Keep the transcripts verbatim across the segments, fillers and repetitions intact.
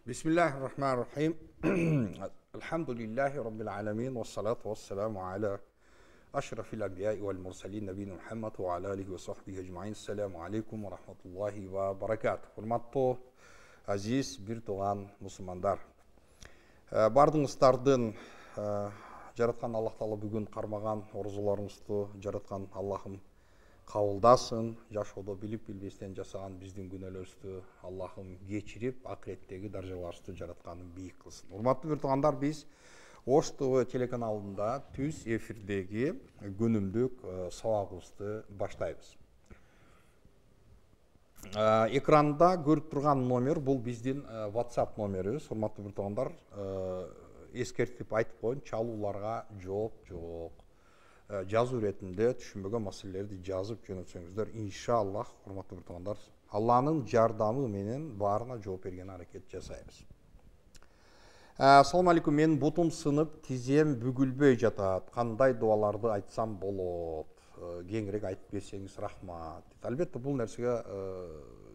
Bismillahirrahmanirrahim. Elhamdülillahi Rabbil alemin. Ve salatu ve selamu ala aşrafil anbiya'i vel mursalin nebiyina Muhammed ve ala alihi ve sahbihi ecmaîn. Selamu aleykum ve rahmetullahi ve berekatuh. Hurmatlı aziz bir tuğan Müslümanlar. Bardığınыздардын жараткан Аллах Таала бүгүн кармаган орузуларыңызды жараткан Аллахым кабылдасын, жашоодо билип билбестен жасаган биздин күнөөлөрүбүздү Аллахым кечирип, акыреттеги даражаларыбызды жаратканын бийик кылсын. Урматтуу бир туугандар, биз Ош ТВ телеканалында түз эфирдеги күнүмдүк сабагыбызды баштайбыз. Экранда көрүп турган номер бул биздин WhatsApp номерибиз. Урматтуу бир туугандар, эскертип айтып коеюн, чалууларга жооп жок. Жазуу иретинде түшүнбөгөн маселелерди жазып жөнөтсөңүздөр, иншаллах, урматтуу бир туугандар, Алланын жардамы менен баарына жооп берген аракет жасайбыз. Ассаламу алейкум, менин бутум сынып, тизем бүгүлбөй жатат. Кандай дуаларды айтсам болот? Кеңирээк айтып берсеңиз рахмат. Албетте, бул нерсеге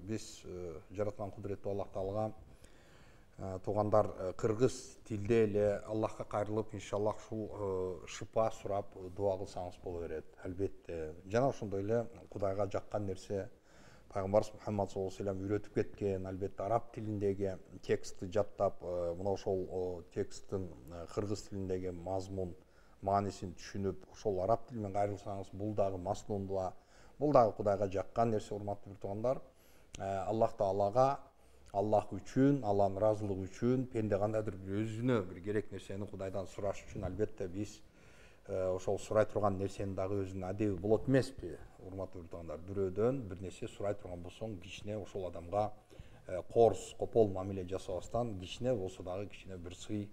биз жараткан кудуреттүү Аллах Таалага туугандар кыргыз тилде эле Аллахка кайрылып, иншаллах ушул шыпа сурап дуа кылсаңыз боло берет. Албетте, жана ошондой эле Кудайга жаккан нерсе Пайгамбарыбыз Мухаммад саллаллаху алейхи ва саллям үйрөтүп кеткен, албетте араб тилиндеги текстти жаттап, мына ошол тексттин кыргыз тилиндеги мазмун маанисин түшүнүп, ошол араб тили менен кайрылсаңыз, бул дагы маснун дуа, бул дагы Кудайга жаккан нерсе. Урматтуу бир туугандар, Аллах Таалага, Аллах үчүн, Алланын ыраазылыгы үчүн, пенде кандайдыр бир өзүнө бир керек нерсени Кудайдан сураш үчүн, албетте биз ошол сурай турган нерсенин дагы өзүнүн адеби болот эмеспи? Урматтуу бир туугандар, бирөөдөн бир нерсе сурай турган болсоң, кичине ошол адамга корс, копол мамиле жасабастан, кичине болсо дагы кичине бир сый,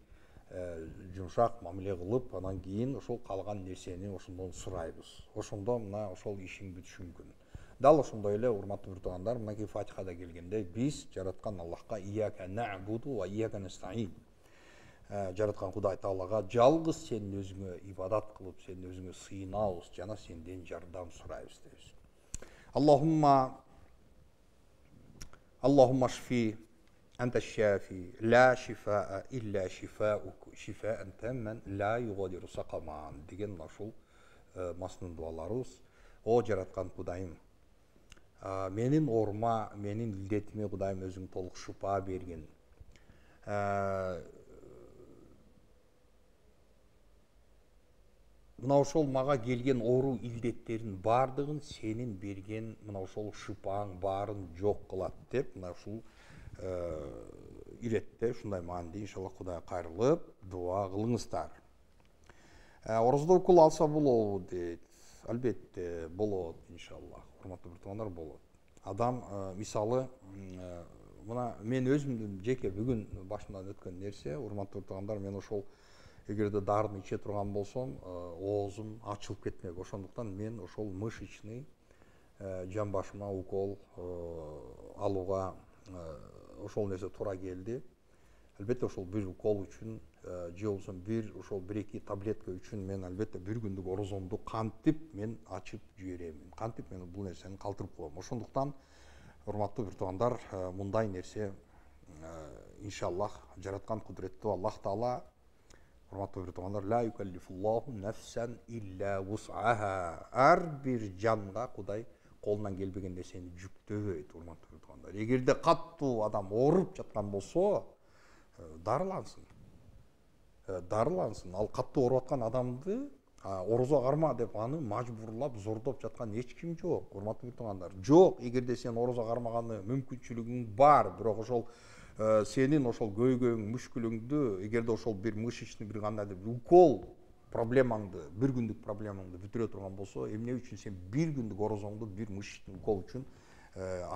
жумшак мамиле кылып, анан кийин ошол калган нерсени ошондон сурайбыз. Ошондо мына ошол ишиң бүтүшү мүмкүн. Дал ошондой эле, урматтуу бир туугандар, мынакей Фатихада келгендей, биз жараткан Аллахка ияка нa'буду ва ияка настаин, жараткан Кудай Таалага жалгыз сенин өзүңө ибадат кылып, сенин өзүңө сыйынабыз жана сенден жардам сурайбыз дейбиз. Аллахумма Аллахумма шфи анта шафи ла шифаа илля шифаук шифаан тамман ла югадиру сакаман деген ошол маснун дуаларыбыз. О жараткан Кудайым, менин оорума, менин илдетиме Кудайым өзүң толук шыпа бергин. Мына ошол мага келген оору илдеттерин бардыгын сенин берген мына ошол шыпаң баарын жок кылат деп, мына ушул иретте ушундай мааниде иншаллах Кудайга кайрылып дуа кылыңыздар. Орозодо укул алса болобу дейт. Албетте болот, иншаллах. Урматтуу бир туугандар, болот. Адам мисалы, мына мен өзүмдүн жеке бүгүн башымдан өткөн нерсе, урматтуу бир туугандар, мен ошол эгерде дарыны иче турган болсом, оозум ачылып кетмек. Ошондуктан мен ошол мышечный жан башыма укол алууга ошол нерсе туура келди. Албетте ошол бир укол үчүн же болбосо бир ошол бир эки таблетка үчүн мен албетте бир күндүк орозомду кантип мен ачып жиберем. Кантип мен бул нерсени калтырып коем. Ошондуктан, урматтуу бир туугандар, мындай нерсе иншаллах жараткан кудуреттүү Аллах Таала, урматтуу бир туугандар, ла юкаллифуллаху нафсан илля вус'аха. Ар бир жанга Кудай колунан келбеген нерсени жүктөбөйт, урматтуу бир туугандар. Эгерде каттуу адам ооруп жаткан болсо, дарылансын. Дарылансын. Ал каттуу ооруп аткан адамды орозо карма деп аны мажбурлап, зордоп жаткан эч ким жок, урматтуу бир туугандар. Жок, эгерде сен орозо кармаганы мүмкүнчүлүгүң бар, бирок ошол сенин ошол көйгөйүң, мүшкүлүңдү, эгерде ошол бир мышечный бир кандайдыр бир укол проблемаңды, бир күндүк проблемаңды бүтүрө турган болсо, эмне үчүн сен бир күндүк орозоңду бир мышечный укол үчүн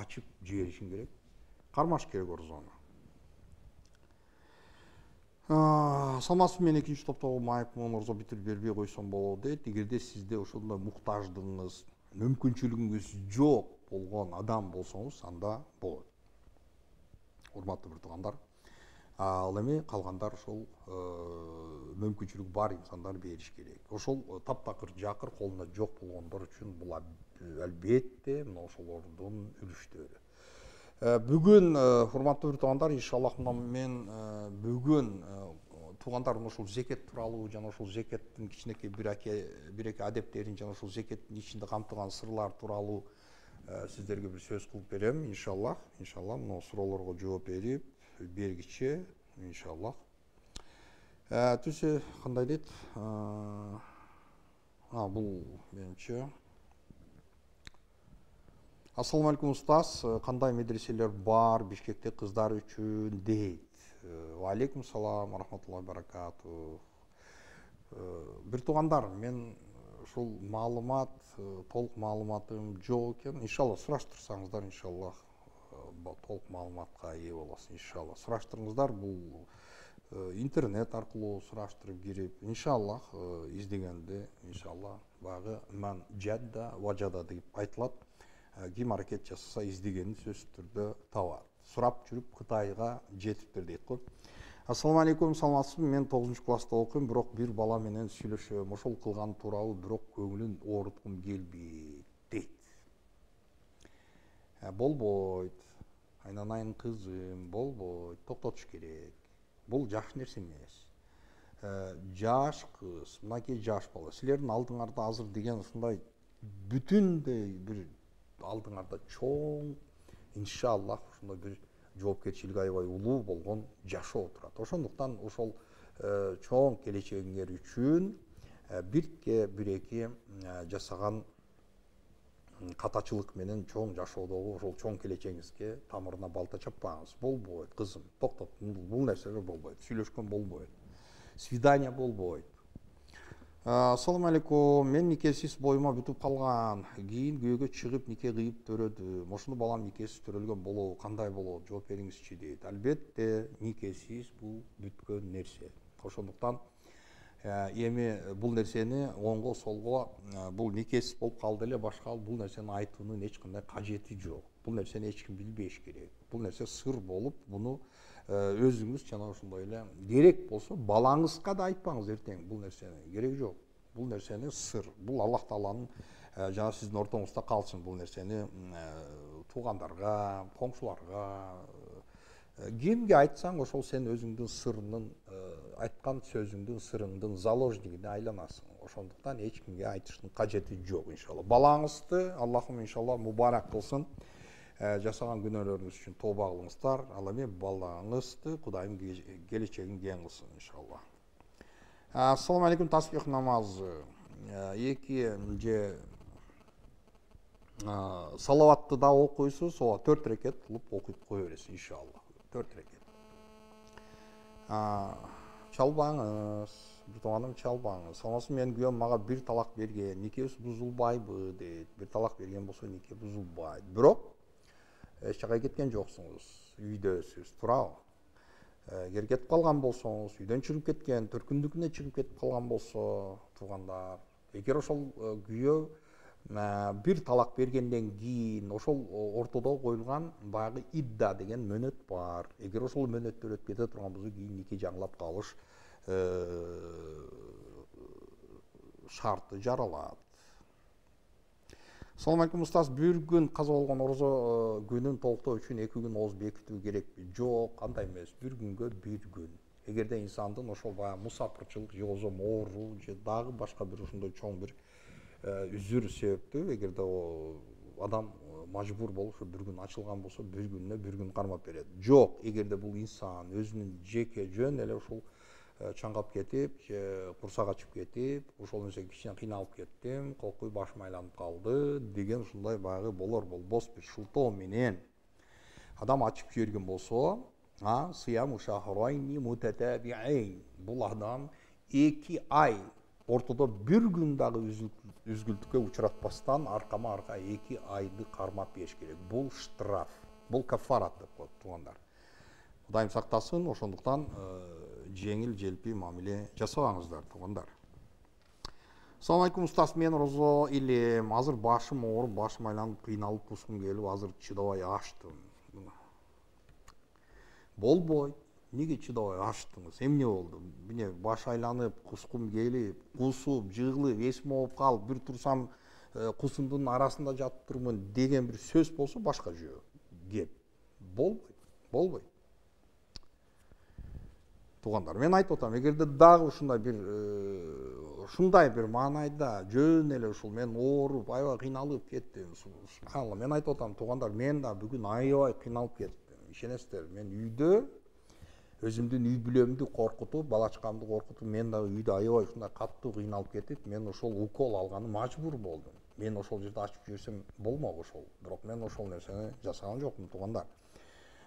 ачып жиберишиң керек? Кармаш керек орозону. Саламатсызбы, мен экинчи топтогу майыпмын, орозо бүтүрүп бербей койсом болот дейт. Эгерде сизде ошондой муктаждыгыңыз, мүмкүнчүлүгүңүз жок болгон адам болсоңуз, анда болот. Урматтуу бир туугандар, ал эми калгандар ошол мүмкүнчүлүгү бар инсандар бериш керек. Ошол таптакыр жакыр колунда жок болгондор үчүн бул албетте мына ошолордун үлүштөрү. Бүгүн урматтуу бир туугандар, иншаллах мен бүгүн туугандардын ушул зекет тууралуу жана ушул зекеттин кичинекей бир бир эки адептерин жана ушул зекеттин ичинде камтылган сырлар тууралуу сиздерге бир сөз кылып берем. Иншаллах, иншаллах мына суроолорго жооп берип бергиче иншаллах. Түшү кандай дейт? А бул менимче. Ассаламу алейкум устаз, кандай медреселер бар Бишкекте кыздар үчүн дейт. Ва алейкум салам, рахматуллахи баракату. Бир туугандар, мен ушул маалымат, толук маалыматым жок экен. Иншаллах сураштырсаңыздар, иншаллах толук маалыматка ээ болосуз, иншаллах. Сураштырыңыздар, бул интернет аркылуу сураштырып кирип, иншаллах издегенде, иншаллах багы ман жадда важада деп айтылат. Ким аракет жасаса издегенин сөзсүз түрдө табат. Сурап жүрүп Кытайга жетиптир дейт го. Ассаламу алейкум, саламатсызбы? Мен тогузунчу класста окуйм, бирок бир бала менен сүйлөшөм. Ошол кылган тууралуу бирок көңүлүн ооруткум келбейт дейт. Болбойт. Айнанайын кызым, болбойт. Токтотуш керек. Бул жакшы нерсе эмес. Жаш кыз, мынакей жаш бала. Силердин алдыңарда азыр деген ушундай бүтүндөй бир алдыңарда чоң, иншаллах, ушундай бир жоопкерчилиги аябай улуу болгон жашоо турат. Ошондуктан ошол чоң келечегиңер үчүн бирке бир-эки жасаган катачылык менен чоң жашоодогу ошол чоң келечегиңизге тамырына балта чаппаңыз. Болбойт, кызым, токтот. Бул нерселер болбойт. Сүйлөшкөн болбойт. Свидание болбойт. Ассаламу алейкум, мен никесиз боюма бүтүп калган. Кийин күйөөгө чыгып нике кыйып төрөдүм. Ошону балам никесиз төрөлгөн болобу, кандай болот? Жооп бериңизчи дейт. Албетте, никесиз бул бүткөн нерсе. Ошондуктан эми бул нерсени оңго солго бул никесиз болуп калды эле, башка бул нерсени айтуунун эч кандай кажети жок. Бул нерсени эч ким билбеш керек. Бул нерсе сыр болуп, буну өзүңүз жана ошондой эле керек болсо балаңызга да айтпаңыз эртең бул нерсени. Керек жок. Бул нерсени сыр. Бул Аллах Тааланын жана сиздин ортоңузда калсын. Бул нерсени туугандарга, коңшуларга, кимге айтсаң, ошол сен өзүңдүн сырыңдын, айткан сөзүңдүн сырыңдын заложнигине айланасың. Ошондуктан эч кимге айтыштын кажети жок, иншалла. Балаңызды Аллахым иншалла мубарак кылсын. Жасаган күнөөлөрүңүз үчүн тооба кылыңыздар. Ал эми балаңызды Кудайым келечегин кең кылсын, иншалла. Ассаламу алейкум, таспих намазы. Эки же салаватты да окуйсуз, ооба төрт рекет кылып окуп кое бересиз, иншалла. төрт рекет. Чалбаңыз, бир тууганым чалбаңыз. Саламатсызбы, менин күйөөм мага бир талак берген. Никебиз бузулбайбы дейт. Бир талак берген болсо нике бузулбайт. Бирок эч жака кеткен жоксуңуз, үйдөсүз, туурабы? Эгер кетип калган болсоңуз, үйдөн чыгып кеткен, төркүндүкүнө чыгып кетип калган болсо, туугандар, эгер ошол күйөө бир талак бергенден кийин ошол ортодо коюлган баягы идда деген мөөнөт бар. Эгер ошол мөөнөттөр өтүп кете турган болсо, кийин нике жаңылап калыш шарты жаралат. Ассаламу алейкум устаз, бир күн каза болгон орозо күнүн толуктоо үчүн эки күн ооз бекитүү керекпи? Жок, кандай эмес. Бир күнгө бир күн. Эгерде инсандын ошол баягы мусапырчылык же болбосо оору же дагы башка бир ушундай чоң бир үзүр себептүү, эгерде адам мажбур болуп ушу бир күн ачылган болсо, бир күнүнө бир күн кармап берет. Жок, эгерде бул инсан өзүнүн жеке жөн эле ушул чаңгап кетип, же курсак ачып кетип, ошол нерсе кичине кыйналып кеттим, кокуй башым айланып калды деген ушундай баягы болор болбос бир шылтоо менен адам ачып жиберген болсо, а сыям шахрайни мутатабиин. Бул адам эки ай ортодо бир күн дагы үзгүлтүккө учуратпастан аркама арка эки айды кармап бериш керек. Бул штраф, бул кафарат деп коет, туугандар. Кудайым сактасын, ошондуктан жеңил желпи мамиле жасабаңыздар, туугандар. Ассаламу алейкум устаз, мен орозо илем, азыр башым ооруп, башым айланып, кыйналып кускум келип, азыр чыдабай аштым. Болбойт. Неге чыдабай аштыңыз? Эмне болду? Міне баш айланып, кускум келип, кусуп, жыгылып, эсим ооп калып, бир турсам кусумдун арасында жатып турмун деген бир сөз болсо башка жөө. Кеп. болбойт, болбойт. Туугандар, мен айтып атам, эгерде дагы ушундай бир ушундай бир маанайда жөн эле ушул мен ооруп, аябай кыйналып кеттим. Субханалла, мен айтып атам, туугандар, мен да бүгүн аябай кыйналып кеттим. Ишенесиздер, мен үйдө өзүмдүн үй бүлөмдү коркутуп, балачкамды коркутуп, мен дагы үйдө аябай ушундай катуу кыйналып кетип, мен ошол укол алганы мажбур болдум. Мен ошол жерде ачып жиберсем болмок ошол. Бирок мен ошол нерсени жасаган жокмун, туугандар.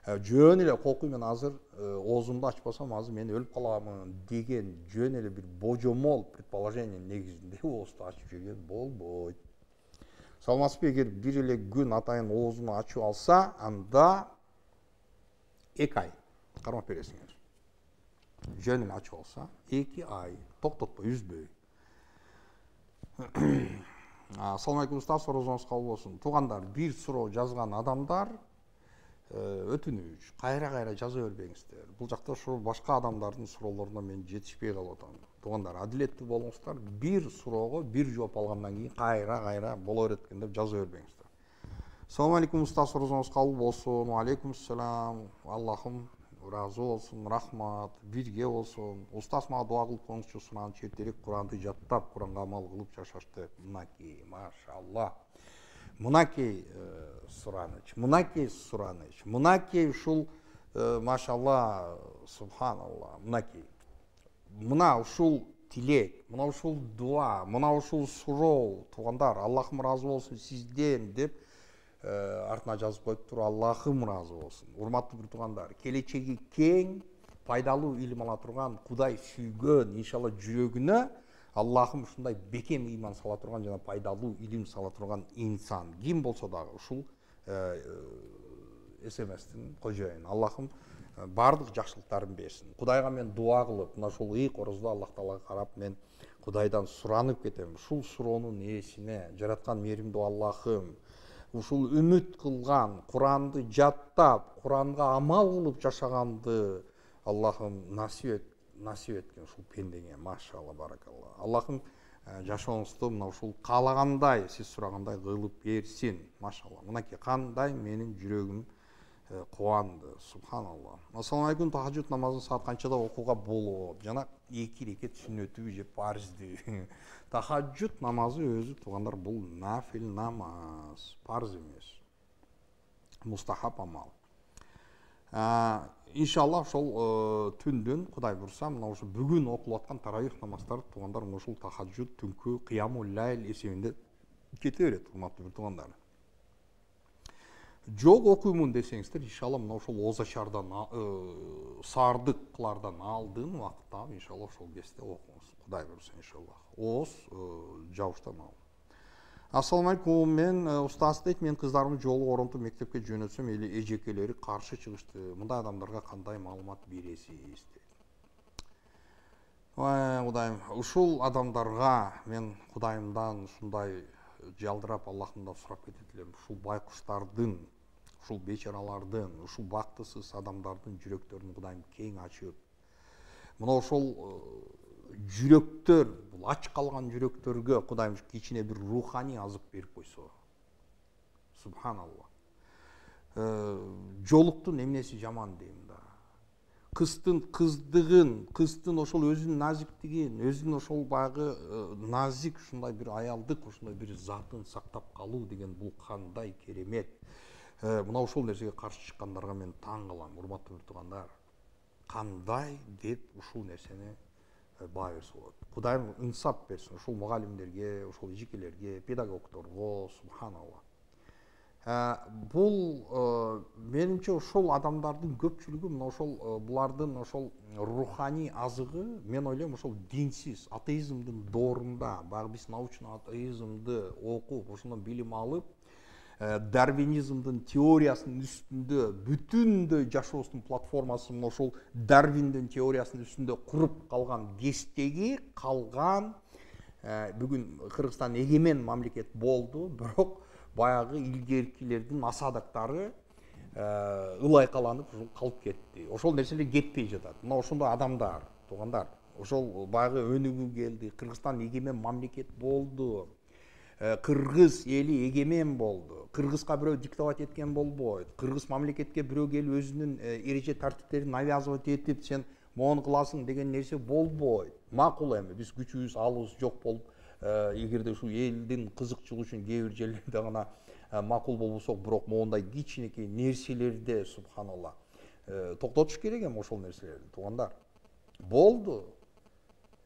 Жөн эле кокуй, мен азыр оозумду ачпасам азыр мен өлүп каламын деген жөн эле бир божомол предположение негизинде оозду ачып жиберген болбойт. Саламатсызбы? Эгер бир эле күн атайын оозуну ачып алса, анда эки ай кармап бересиңер. Жөн эле ачып алса, эки ай токтотпой, үзбөй. Assalomu alaykum ustoz, so'rovingiz qabul bo'lsin. Tug'anlar, bir so'rov жазган адамдар өтүнүч, кайра-кайра жаза бербеңиздер. Бул жакта ошо башка адамдардын суроолоруна мен жетишпей калып атам. Туугандар, адилеттүү болуңуздар, бир суроого бир жооп алгандан кийин кайра-кайра боло берет экен деп жаза бербеңиздер. Assalomu alaykum ustoz, so'rovingiz qabul bo'lsin. Va alaykum assalom. Allohim разы болсун, рахмат, бирге болсун. Устаз мага дуа кылып коюңузчу, сунан четтерек Куранды жаттап, Куранга амал кылып жашашты. Мынакей, машалла. Мынакей сураныч, мынакей сураныч, мынакей ушул машалла, субханалла, мынакей. Мына ушул тилек, мына ушул дуа, мына ушул суроо, туугандар, Аллахым разы болсун сизден деп артына жазып коюп туруп, Аллахым разы болсун. Урматтуу бир туугандар, келечеги кең, пайдалуу илим ала турган, Кудай сүйгөн, иншалла жүрөгүнө Аллахым ушундай бекем ыйман сала турган жана пайдалуу илим сала турган инсан ким болсо дагы ушул эс эм эстин кожоюну. Аллахым бардык жакшылыктарын берсин. Кудайга мен дуа кылып, мына ушул ый корозду Аллах Таалага карап мен Кудайдан суранып кетем. Ушул суроонун ээсине жараткан мээримдүү Аллахым, ушул үмүт кылган, Куранды жаттап, Куранга амал кылып жашаганды Аллахым насип эт, насип эткин ушул пендеңе, машалла, баракалла. Аллахым жашооңузду мына ушул каалагандай, сиз сурагандай кылып берсин, машалла. Мынакей кандай менин жүрөгүм кубанды, субханалла. Ассаламу алейкум, тахажжуд намазын саат канчада окууга болот? Жана эки рекет сүннөтүбү же парызды? Тахажжуд намазы өзү туугандар бул нафил намаз, парыз эмес. Мустахаб амал. Иншалла ошол түндүн Кудай бурса, мына ошо бүгүн окулуп аткан таравих намаздары туугандар ушул тахажжуд түнкү кыямул лайл эсебинде кете берет, урматтуу бир туугандар. Жок окуймун десеңиздер, иншалла мына ошол оозачардан, саардыклардан алдын убакытта иншалла ошол кезде окуңуз. Кудай бурса иншалла. Ооз жабыштан ал. Ассаламу алейкум, мен устаз дейт, мен кыздарымды жолу оронтуп мектепке жөнөтсөм, эли эжекелери каршы чыгышты. Мындай адамдарга кандай маалымат бересиз дейт. Ой, Кудайым, ушул адамдарга мен Кудайымдан ушундай жалдырап Аллахымдан сурап кетет элем. Ушул байкуштардын, ушул бечаралардын, ушул бактысыз адамдардын жүрөктөрүн Кудайым кең ачып, мына ошол жүрөктөр, бул ач калган жүрөктөргө Кудайым кичине бир руханий азык берип койсо. Субханалла. Жолуктун эмнеси жаман дейм да. Кыздын кыздыгын, кыздын ошол өзүнүн назиктигин, өзүнүн ошол баягы назик ушундай бир аялдык, ушундай бир затын сактап калуу деген бул кандай керемет. Мына ошол нерсеге каршы чыккандарга мен таң калам, урматтуу бир туугандар. Кандай деп ушул нерсени баа берсе болот. Кудайым инсап берсин ушул мугалимдерге, ушул эжекелерге, педагогдорго, субханалла. Бул менимче ошол адамдардын көпчүлүгү мына ошол булардын ошол руханий азыгы, мен ойлойм ошол динсиз, атеизмдин доорунда, баягы биз научный атеизмди окуп, ошондон билим алып, дарвинизмдин теориясынын үстүндө бүтүндөй жашоосунун платформасын мына ошол Дарвиндин теориясынын үстүндө куруп калган кездеги калган, бүгүн Кыргызстан эгемен мамлекет болду, бирок баягы илгеркилердин асадактары ылайкаланып ушул калып кетти. Ошол нерселер кетпей жатат. Мына ошондой адамдар, туугандар, ошол баягы өнүгүү келди, Кыргызстан эгемен мамлекет болду. Кыргыз эли эгемен болду. кыргызга бирөө диктовать эткен болбойт. Кыргыз мамлекетке бирөө келип өзүнүн эреже тартиптерин навязывать этип сен мону кыласың деген нерсе болбойт. Макул эми биз күчүбүз алыбыз жок болуп, эгерде ушул элдин кызыкчылыгы үчүн кээ бир жерлерде гана макул болбосок, бирок моундай кичинекей нерселерде субханалла токтотуш керек эми ошол нерселерди. Туугандар, болду.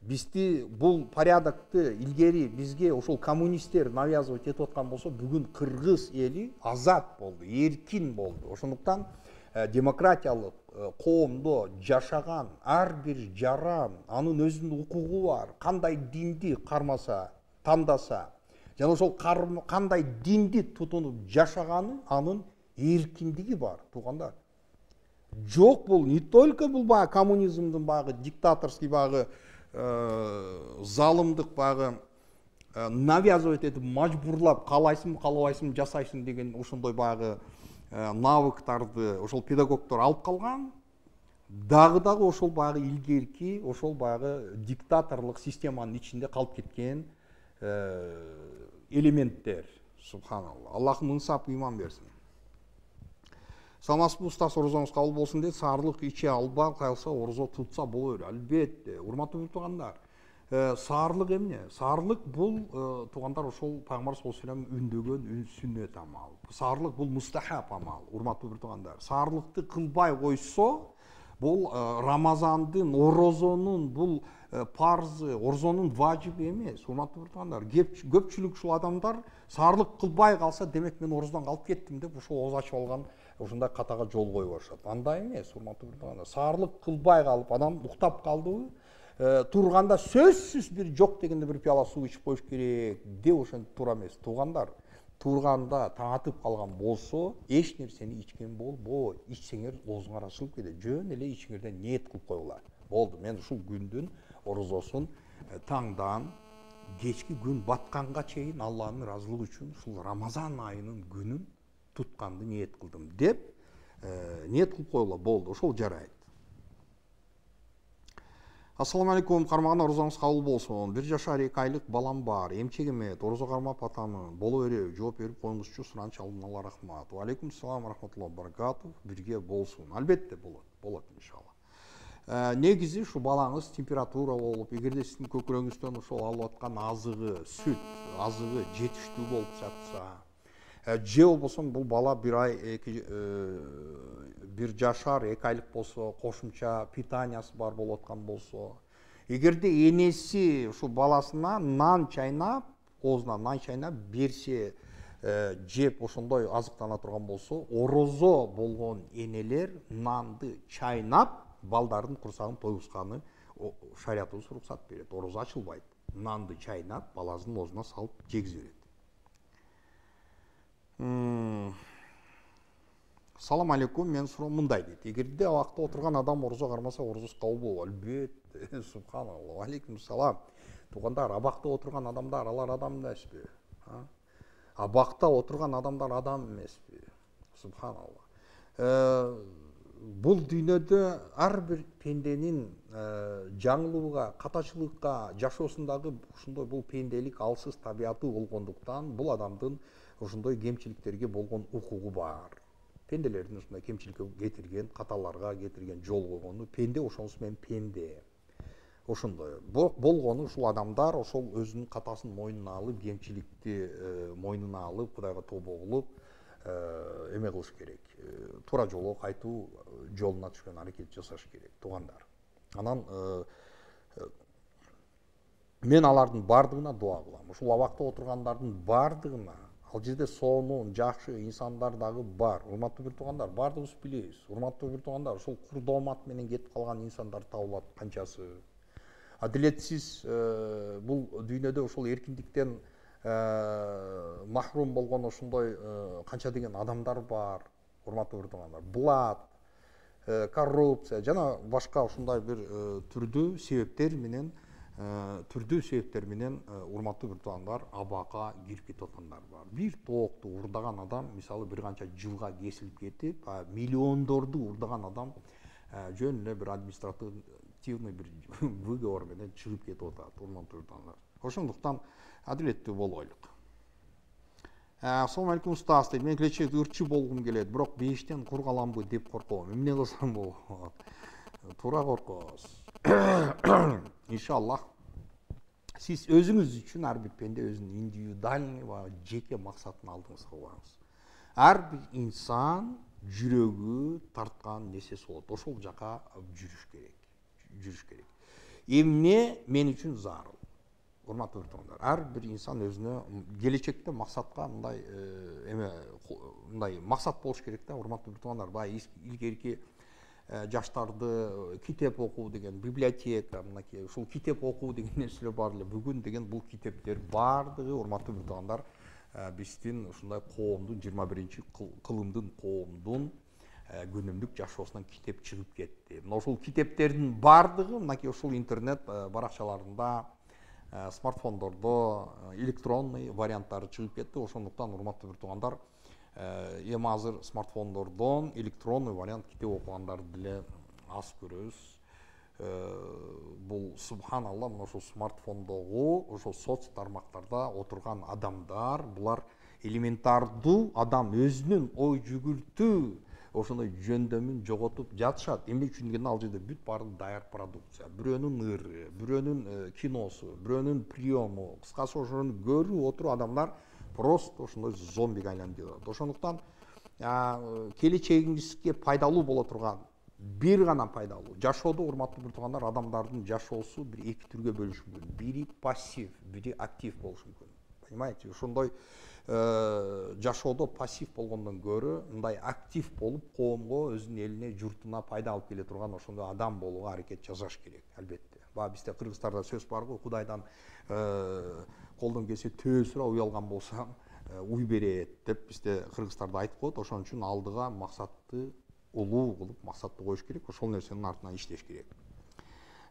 Бизди бул порядокты илгери бизге ошол коммунисттер навязывать этип аткан болсо, бүгүн кыргыз эли азат болду, эркин болду. Ошондуктан демократиялык коомдо жашаган ар бир жаран анын өзүнүн укугу бар. Кандай динди кармаса, тандаса, жана ошол кандай динди тутунуп жашаганы анын эркиндиги бар, туугандар. Жок, бул не только бул баягы коммунизмдин баягы диктаторский баягы залымдык баягы навязывать этип мажбурлап каалайсың каалабайсың жасайсың деген ошондой баягы навыктарды ошол педагогдор алып калган. Дагы дагы ошол баягы илгерки ошол баягы диктаторлук системанын ичинде калып кеткен элементтер. Субханалла. Аллахым ынсап ыйман берсин. Саламатсызбы устаз, орозоңуз кабыл болсун дейт. Саарлык иче алба калса орозо тутса боло берет. Албетте, урматтуу туугандар. Саарлык эмне? Саарлык бул туугандар ошол Пайгамбар саллаллаху алейхи ва саллям үндөгөн үн сүннөт амал. Саарлык бул мустахаб амал, урматтуу туугандар. Саарлыкты кылбай койсо, бул Рамазандын, орозонун бул парзы, орозонун важиби эмес, урматтуу туугандар. Көпчүлүк ушул адамдар саарлык кылбай калса, демек мен орозодон калып кеттим деп ошол ооз ачып алган ушундай катага жол кое башат. Андай эмес, урматтуу туугандар. Саарлык кылбай калып адам уктап калдыбы, турганда сөзсүз бир жок дегенде бир пияла суу ичип коюш керек деп ошентип туура эмес. Туугандар, турганда таң атып калган болсо, эч нерсени ичкен болбойт. Ичсеңер оозуңар ачылып кетет. Жөн эле ичиңерден ниет кылып койгула. Болду, мен ушул күндүн орозосун таңдан кечки күн батканга чейин Алланын ыраазылыгы үчүн ушул Рамазан айынын күнүн тутканды ниет кылдым деп ниет кылып койгула. Болду, ошол жарайт. Ассаламу алейкум, кармаган орозоңуз кабыл болсун. Бир жашар эки айлык балам бар. Эмчек эмет, орозо кармап атамын. Боло береби? Жооп берип коюңузчу, суранчы алдын ала рахмат. Ва алейкум салам рахматуллахи баракатух. Бирге болсун. Албетте болот, болот иншалла. Негизи ушу балаңыз температура болуп, эгерде сиздин көкүрөңүздөн ошол алып аткан азыгы, сүт азыгы жетиштүү болуп жатса, же болбосо бул бала бир ай эки бир жашар эки айлык болсо, кошумча питаниясы бар болуп аткан болсо, эгерде энеси ушул баласына нан чайнап, оозуна нан чайнап берсе, жеп ошондой азыктана турган болсо, орозо болгон энелер нанды чайнап балдардын курсагын тойгузганы шариятыбыз уруксат берет. Орозо ачылбайт. Нанды чайнап баласынын оозуна салып жегизе берет. Салам алейкум, мен суроом мындай дейт. Эгерде абакта отурган адам орозо кармаса, орозосу кабыл болобу? Албетте, субханалла. Алейкум салам. Туугандар, абакта отурган адамдар, алар адам эмеспи? Абакта отурган адамдар адам эмеспи? Субханалла. Бул дүйнөдө ар бир пенденин жаңылууга, катачылыкка, жашоосундагы ушундай бул пенделик алсыз табияты болгондуктан, бул адамдын ошондой кемчиликтерге болгон укугу бар. Пенделердин ушундай кемчиликке кетирген, каталарга кетирген жол койгону, пенде ошонусу менен пенде. Ошондой болгону ушул адамдар ошол өзүнүн катасын мойнуна алып, кемчиликти мойнуна алып, Кудайга тобо кылып, эме кылыш керек. Туура жолго кайтуу жолуна түшкөн аракет жасаш керек, туугандар. Анан мен алардын бардыгына дуа кылам. Ушул абакта отургандардын бардыгына, ал жерде сонун, жакшы инсандар дагы бар. Урматтуу бир туугандар, бардыгыбыз билебиз. Урматтуу бир туугандар, ушул курдоомат менен кетип калган инсандар табылат канчасы. Адилетсиз бул дүйнөдө ушул эркиндиктен махрум болгон ошондой канча деген адамдар бар. Урматтуу бир туугандар, блат, коррупция жана башка ушундай бир түрдүү себептер менен түрдүү себептер менен урматтуу бир туугандар абакка кирип кетип аткандар бар. Бир токту урдаган адам, мисалы бир канча жылга кесилип кетип, миллиондорду урдаган адам жөн эле бир административный бир выговор менен чыгып кетип атат, урматтуу туугандар. Ошондуктан адилеттүү болойлук. Assalomu alaykum ustoz deydi. Men kelечекте ырчы болгум келет, бирок бештен кур каламбы деп корком. Эмне кылсам болот? Туура коркосуз. Иншаллах. Сиз өзүңүз үчүн ар бир пенде өзүнүн индивидуальный ва жеке максатын алдыңызга коюңуз. Ар бир инсан жүрөгү тарткан нерсеси болот. Ошол жака жүрүш керек. Жүрүш керек. Эмне мен үчүн зарыл? Урматтуу көрөрмандар, ар бир инсан өзүнө келечекте максатка мындай эме мындай максат болуш керек да, урматтуу көрөрмандар. Баягы илгерки жаштарды китеп окуу деген, библиотека, мынакей ушул китеп окуу деген нерселер бар эле. Бүгүн деген бул китептер бардыгы урматтуу көрөрмандар биздин ушундай коомдун жыйырма биринчи кылымдын коомдун күнүмдүк жашоосунан китеп чыгып кетти. Мына ушул китептердин бардыгы мынакей ушул интернет баракчаларында, смартфондордо электронный варианттары чыгып кетти. Ошондуктан урматтуу көрөрмандар, эми азыр смартфондордон электронный вариант китеп окугандарды деле аз көрөбүз. Бул субханалла, мына ошол смартфондогу, ошол соц тармактарда отурган адамдар, булар элементардуу адам өзүнүн ой жүгүртүү ошондой жөндөмүн жоготуп жатышат. Эмне үчүн дегенде ал жерде бүт баары даяр продукция. Бирөөнүн ыры, бирөөнүн киносу, бирөөнүн приему, кыскасы ошону көрүп отуруп адамдар просто ошондой зомбиге айланып жатат. Ошондуктан келечегиңизге пайдалуу боло турган, бир гана пайдалуу жашоодо урматтуу көрөрмандар, адамдардын жашоосу бир эки түргө бөлүнүшү мүмкүн. Бири пассив, бири актив болушу мүмкүн. Понимаете? Ошондой жашоодо пассив болгондон көрө мындай актив болуп коомго, өзүнүн элине, журтуна пайда алып келе турган ошондой адам болууга аракет жасаш керек, албетте. Баа бизде кыргыздарда сөз бар го, Кудайдан колдон келсе төө сура, уй алган болсаң уй берет деп бизде кыргыздарда айтып коет. Ошон үчүн алдыга максатты улуу кылып, максатты коюш керек, ошол нерсенин артынан иштеш керек.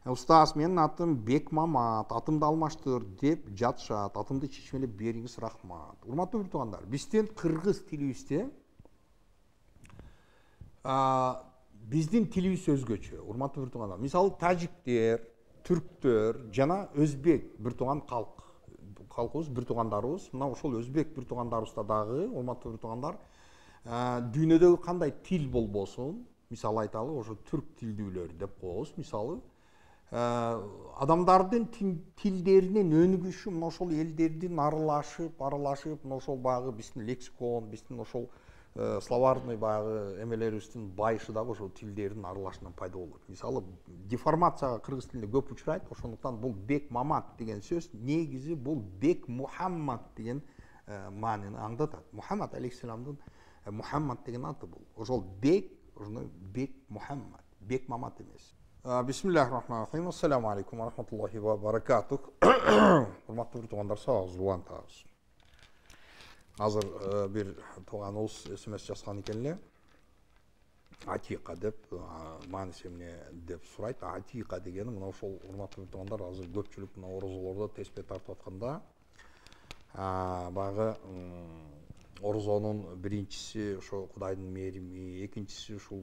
Устаз, менин атым Бек Мамат, атымды алмаштыр деп жатышат. Атымды чечмелеп бериңиз, рахмат. Урматтуу көрөрмандар, биздин кыргыз тилибизде биздин тилибиз өзгөчө. Урматтуу көрөрмандар, мисалы тажиктер, түрктөр жана өзбек бир тууган калк. Калкыбыз, бир туугандарыбыз. Мына ошол өзбек бир туугандарыбызда дагы, урматтуу көрөрмандар, дүйнөдөгү кандай тил болбосун, мисалы айталы, ошо түрк тилдүүлөр деп коебуз, мисалы адамдардын тилдеринин өнүгүшү мына ошол элдердин аралашып, аралашып, мына ошол багы биздин лексикон, биздин ошол словарный багы эмелерибиздин байышы дагы ошол тилдердин аралашынан пайда болот. Мисалы, деформацияга кыргыз тилинде көп учурайт. Ошондуктан бул Бек Мамат деген сөз негизи бул Бек Мухаммад деген маанини аңдатат. Мухаммад алейхиссаламдын Мухаммад деген аты бул. Ошол Бек, ошондой Бек Мухаммад, Бек Мамат эмес. Бисмиллахир-рахманир-рахим. Ассаламу алейкум ва рахматуллахи ва баракатух. Урматтуу көрөрмандар, сагыз улантабыз. Азыр бир тууганыбыз смс жазган экен эле. Атика деп, мааниси эмне деп сурайт. Атика дегени мына ошол урматтуу көрөрмандар, азыр көпчүлүк мына орозолордо теспе тартып атканда, багы орозонун биринчиси ошо Кудайдын мээрими, экинчиси ушул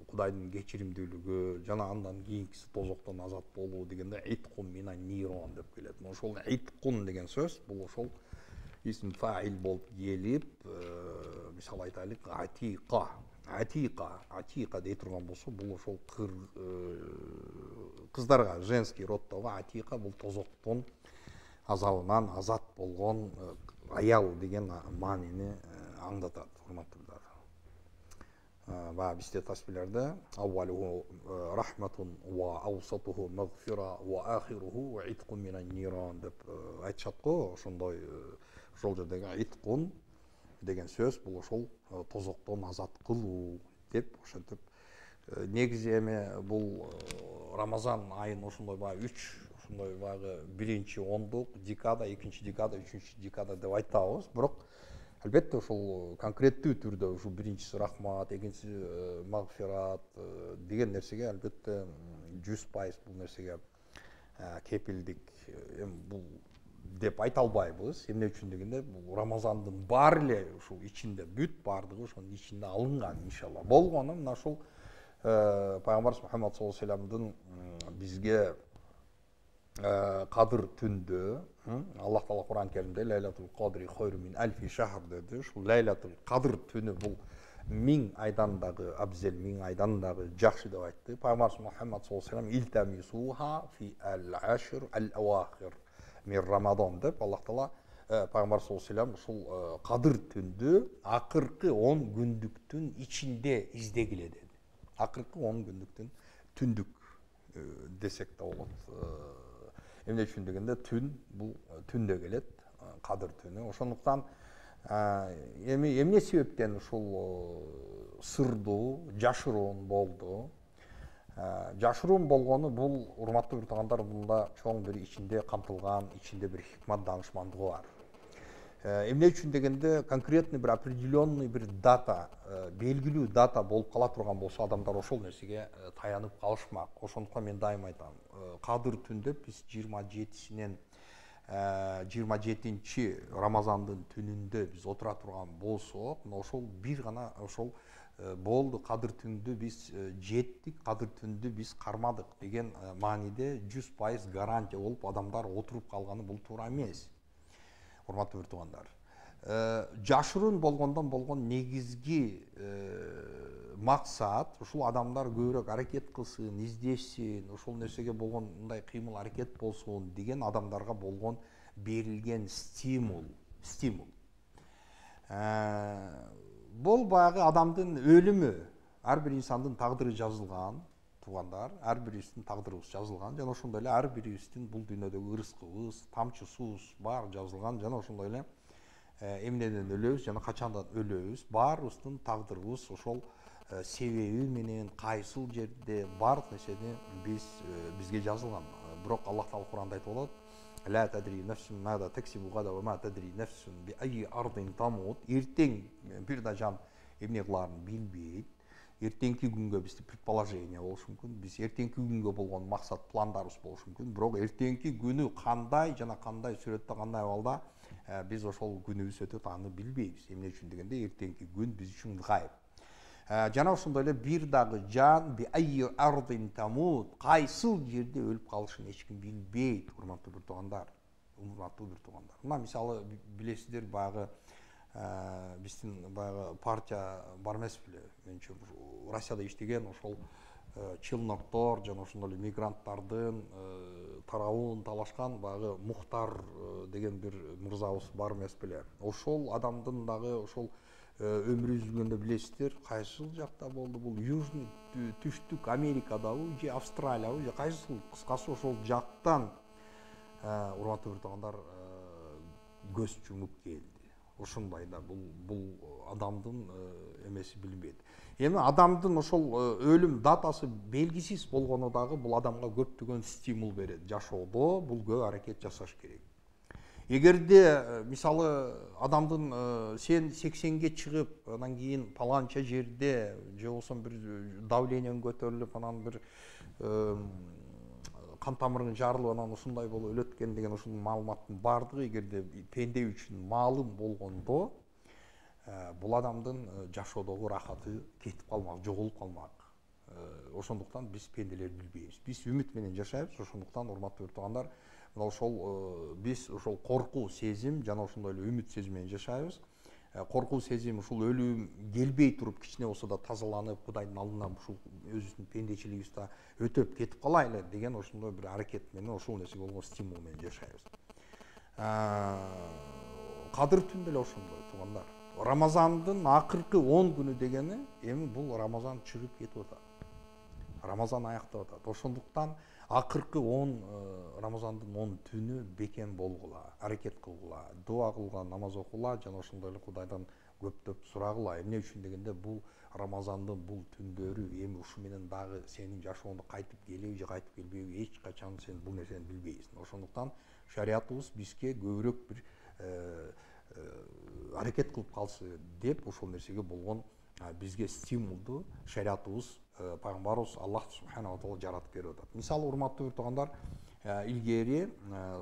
Кудайдын кечиримдүүлүгү, жана андан кийинкиси тозоктон азат болуу дегенде иткун мина нирон деп келет. Ошол иткун деген сөз бул ошол исм фаил болуп келип, мисалы айтайлык, атика, атика, атика дей турган болсо, бул ошол кыздарга, женский роддогу атика бул тозоктон азабынан азат болгон аял деген маанини аңдатат, урматтуулар. Ва бизде таспилерде аввалуху рахматун ва аусатуху магфира ва ахируху иткун минан нирон деп айтышат го. Ошондой ошол жердеги иткун деген сөз бул ошол тозоктон азат кылуу деп ошентип негизи эми бул Рамазан айын ошондой баягы үч ошондой баягы биринчи ондук декада, экинчи декада, үчүнчү декада деп айтабыз. Бирок албетте ошол конкреттүү түрдө ушул биринчиси рахмат, экинчиси магфират деген нерсеге албетте жүз пайыз бул нерсеге кепилдик эми бул деп айта албайбыз. Эмне үчүн дегенде бул Рамазандын баары эле ушул ичинде, бүт баардыгы ошонун ичинде алынган иншалла. Болгону мына ушул пайгамбарыбыз Мухаммад саллаллаху алейхи вассаламдын бизге кадыр түндө Аллах Таала Куран Керимде Лейлатул Кадри хайру мин альфи шахр деди. Ушул Лейлатул Кадр түнү бул миң айдан дагы абзел, миң айдан дагы жакшы деп айтты. Пайгамбарыбыз Мухаммад саллаллаху алейхи вассалам илтамисуха фи ал-ашр ал-авахир мин Рамадан деп Аллах Таала Пайгамбар саллаллаху алейхи вассалам ушул кадыр түндү акыркы он күндүктүн ичинде издегиле деди. Акыркы он күндүктүн түндүк десек да болот. Эмне үчүн дегенде түн бул түндө келет, кадыр түнү. Ошондуктан эми эмне себептен ушул сырдуу, жашыруун болду? Жашыруун болгону бул урматтуу туугандар, мында чоң бир ичинде камтылган, ичинде бир хикмат даанышмандыгы бар. Эмне үчүн дегенде конкретный бир определенный бир дата, белгилүү дата болуп кала турган болсо, адамдар ошол нерсеге таянып калышмак. Ошондуктан мен дайыма айтам, кадыр түндө биз жыйырма жетисинен жыйырма жетинчи Рамазандын түнүндө биз отура турган болсок, ошол бир гана ошол болду, кадыр түндү биз жеттик, кадыр түндү биз кармадык деген мааниде жүз пайыз гарантия болуп адамдар отуруп калганы бул туура эмес. Урматтуу туугандар, жашыруун болгондон болгон негизги максат ушул адамдар көбүрөөк аракет кылсын, издешсин, ушул нерсеге болгон мындай кыймыл аракет болсун деген адамдарга болгон берилген стимул. Стимул. Бул баягы адамдын өлүмү, ар бир инсандын тагдыры жазылган, туугандар, ар бирибиздин тагдырыбыз жазылган, жана ошондой эле ар бирибиздин бул дүйнөдөгү ырыскыбыз, тамчы суубуз баары жазылган, жана ошондой эле эмнеден өлөбүз жана качандан өлөбүз, баарыбыздын тагдырыбыз ошол себеби менен кайсыл жерде баардык нерсени биз бизге жазылган. Бирок Аллах Таала Куранда айтып атат: "Ла тадри нафсун мада таксибу гада ва ма тадри нафсун би айи ардин тамут." Эртең бир да жан эмне кылаарын билбейт. Эртеңки күнгө бизде предположение болушу мүмкүн, биз эртеңки күнгө болгон максат пландарыбыз болушу мүмкүн, бирок эртеңки күнү кандай жана кандай сүрөттө, кандай абалда биз ошол күнүбүз өтөт, аны билбейбиз. Эмне үчүн дегенде эртеңки күн биз үчүн гайып. Жана ошондой эле бир дагы жан би айи ардин тамут, кайсыл жерде өлүп калышын эч ким билбейт, урматтуу бир туугандар. Урматтуу бир туугандар. Мына мисалы билесиздер, баягы биздин баягы партия бар эмес беле? Менчи Россияда иштеген ошол челноктор жана ошондой эле мигранттардын тарабын талашкан баягы Мухтар деген бир мырзабыз бар эмес беле? Ошол адамдын дагы ошол өмүрү үзүлгөндө билесиздер, кайсыл жакта болду бул? Южный, түштүк Америкадабы же Австралиябы же кайсыл? Кыскасы ошол жактан урматтуу бир туугандар көз жумуп келди. Ошондой да бул бул адамдын эмеси билинбейт. Эми адамдын ошол өлүм датасы белгисиз болгону дагы бул адамга көптөгөн стимул берет. Жашоодо бул көп аракет жасаш керек. Эгерде мисалы адамдын сен сексенге чыгып, анан кийин паланча жерде же болбосо бир давлениең көтөрүлүп, анан бир кан тамырың жарылып, анан ушундай болуп өлөт экен деген ушул маалыматтын баардыгы эгерде пенде үчүн маалым болгондо, бул адамдын жашоодогу рахаты кетип калмак, жоголуп калмак. Ошондуктан биз пенделер билбейбиз. Биз үмүт менен жашайбыз. Ошондуктан урматтуу туугандар, мына ошол биз ошол коркуу сезим жана ошондой эле үмүт сезим менен жашайбыз. Коркуу сезим ушул өлүм келбей туруп кичине болсо да тазаланып, Кудайдын алдынан ушул өзүбүздүн пендечилигибизди өтөп кетип калайлы деген ошондой бир аракет менен, ошол нерсеге болгон стимул менен жашайбыз. Кадыр түн деле ошондой туугандар. Рамазандын акыркы он күнү дегени эми бул Рамазан чыгып кетип атат. Рамазан аяктап атат. Ошондуктан акыркы он Рамазандын он түнү бекем болгула, аракет кылгыла, дуа кылгыла, намаз окула жана ошондой эле Кудайдан көптөп сурагыла. Эмне үчүн дегенде бул Рамазандын бул түндөрү эми ушу менен дагы сенин жашооңдо кайтып келеби же кайтып келбеби эч качан сен бул нерсени билбейсиң. Ошондуктан шариятыбыз бизге көбүрөөк бир аракет кылып калсы деп ошол нерсеге болгон бизге стимулду шариятыбыз, пайгамбарыбыз Аллах субхана ва таала жаратып берип атат. Мисалы урматтуу туугандар, илгери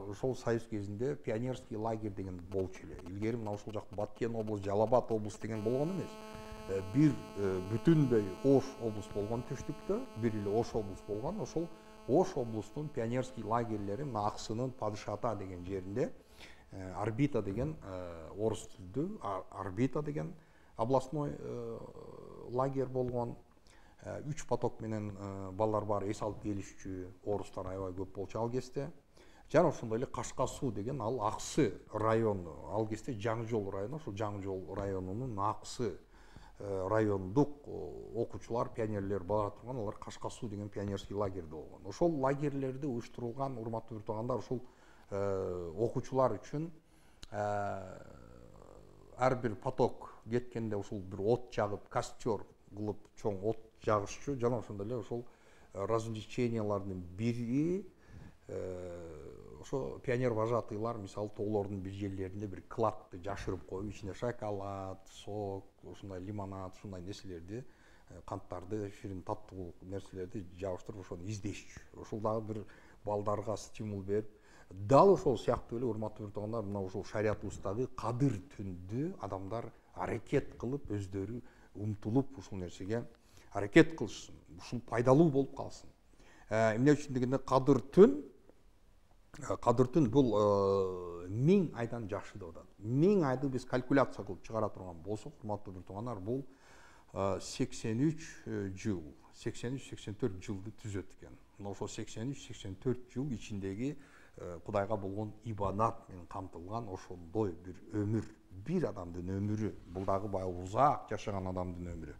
ошол союз кезинде пионерский лагерь деген болчу эле. Илгери мына ошол жак Баткен облус, Жалал-Абад облус деген болгон эмес. Бир бүтүндөй Ош облус болгон түштүктө, бир эле Ош облус болгон. Ошол Ош облустунун пионерский лагерлери мына Аксынын Падышата деген жеринде Орбита деген орус тілдүү Орбита деген областной лагерь болгон. Үч поток менен балдар бар, эс алып келишчү орустар аябай көп болчу ал кезде. Жана ошондой эле Кашка суу деген ал Аксы району, ал кезде Жаңы Жол району, ошол Жаңы Жол районунун Аксы райондук окуучулар, пионерлер бара турган, алар Кашка суу деген пионерский лагерде болгон. Ошол лагерлерде уюштурулган, урматтуу туугандар, ошол окуучулар үчүн ар бир поток кеткенде ушул бир от жагып, костер кылып чоң от жагышчу. Жана ошондой эле ошол развлечениялардын бири ошо пионер вожатыйлар мисалы тоолордун бир жерлеринде бир кладты жашырып коюп, ичине шоколад, сок, ушундай лимонад, ушундай нерселерди, канттарды, ширин таттуу нерселерди жабыштырып ошону издешчү. Ошол дагы бир балдарга стимул берип, дал ошол сыяктуу эле урматтуу туугандар, мына ушул шариятыбыздагы кадыр түндү адамдар аракет кылып, өздөрү умтулуп ушул нерсеге аракет кылышсын, ушул пайдалуу болуп калсын. Эмне үчүн дегенде кадыр түн Кадыр түн бул миң айдан жакшы деп атат. Миң айды биз калькуляция кылып чыгара турган болсок, урматтуу туугандар, бул сексен үч жыл, сексен үч сексен төрт жылды түзөт экен. Мына ошол сексен үч сексен төрт жыл ичиндеги Кудайга болгон ибадат менен камтылган ошондой бир өмүр, бир адамдын өмүрү, бул дагы баягы узак жашаган адамдын өмүрү.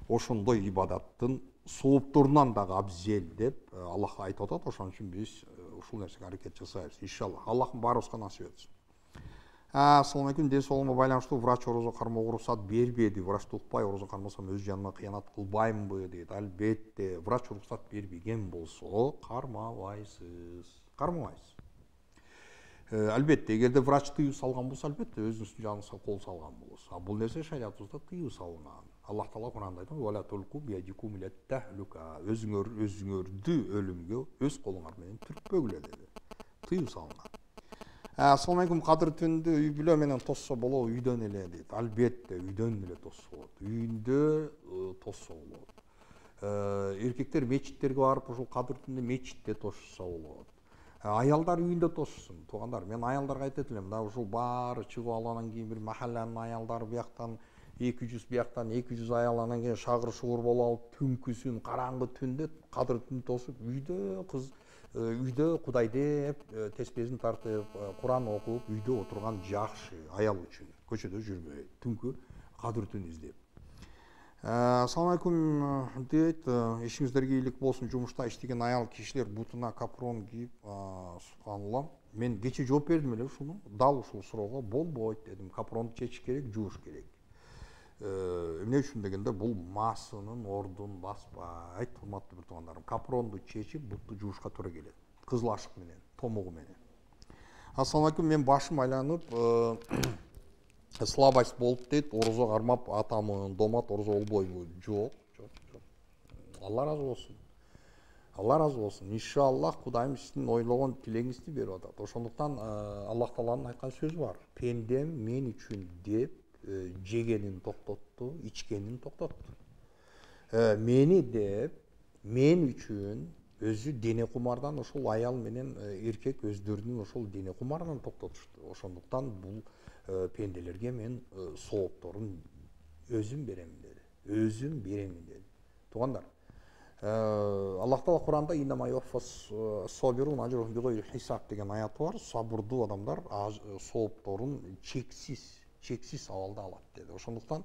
Ошондой ибадаттын соопторунан дагы абзел деп Аллах айтып атат. Ошон үчүн биз ушул нерсеге аракет жасайбыз. Иншалла. Аллах баарыбызга насип этсин. Assalomu alaykum. Ден соолугума байланыштуу врач орозо кармоого уруксат бербеди. Врачты укпай орозо кармасам өз жаныма кыянат кылбаймынбы дейт. Албетте, врач уруксат бербеген болсо кармабайсыз. Кармабайсыз. Албетте, эгерде врач тыюу салган болсо, албетте өзүңүздүн жаныңызга кол салган болосуз. А бул нерсе шариятыбызда тыюу салынган. Аллах Таала Куранда айтат: "Ва ла тулку биядикум ила тахлука." Өзүңөр өзүңөрдү өлүмгө өз колуңар менен түртпөгүлө деди. Тыюу салынган. Assalomu alaykum. Кадыр түндү үй бүлө менен тосса болобу, үйдөн эле дейт. Албетте, үйдөн эле тосса болот. Үйдө тосса болот. Эркектер мечиттерге барып, ушул кадыр түндү мечитте тосса болот. Аялдар үйүндө тоссын. Туугандар, мен аялдарга айтат элем, да ушул баары чыгып алгандан кийин бир махалланын аялдары бияктан эки жүз, бияктан эки жүз аял, анан кийин шагыр шугур болуп алып, түнкүсүн караңгы түндө кадыр түн тосуп, үйдө кыз үйдө Кудай деп, теспесин тартып, Куран окуп, үйдө отурган жакшы аял үчүн. Көчөдө жүрбөй, түнкү кадыр түн издеп. Assalomu alaykum дейт. Ишиңиздерге ийгилик болсун. Жумушта иштеген аял кишилер бутуна капрон кийип, субханалла. Мен кече жооп бердим эле ушуну. Дал ушул суроого болбойт дедим. Капронду чечиш керек, жууш керек. Эмне үчүн дегенде, бул масынын ордун баспайт, урматтуу бир туугандарым. Капронду чечип, бутту жуушка туура келет. Кызыл ашык менен, томугу менен. Assalomu alaykum. Мен башым айланып, слабость болуп дейт. Орозо кармап атамын, домат орозо болбойбу? Жок, жок, жок. Алла разы болсун. Алла разы болсун. Иншаллах Кудайым сиздин ойлогон тилегиңизди берип атат. Ошондуктан Аллах Тааланын айткан сөзү бар. Пендем мен үчүн деп жегенин токтотту, ичкенин токтотту. Мени деп, мен үчүн өзү дене кумардан ошол аял менен эркек өздөрүнүн ошол дене кумарынан токтотушту. Ошондуктан бул пенделерге мен соопторун өзүм берем деди. Өзүм берем деди. Туугандар, Аллах Таала Куранда иннама юфас собирун ажрухум бигойри хисаб деген аяты бар. Сабырдуу адамдар соопторун чексиз чексиз абалда алат деди. Ошондуктан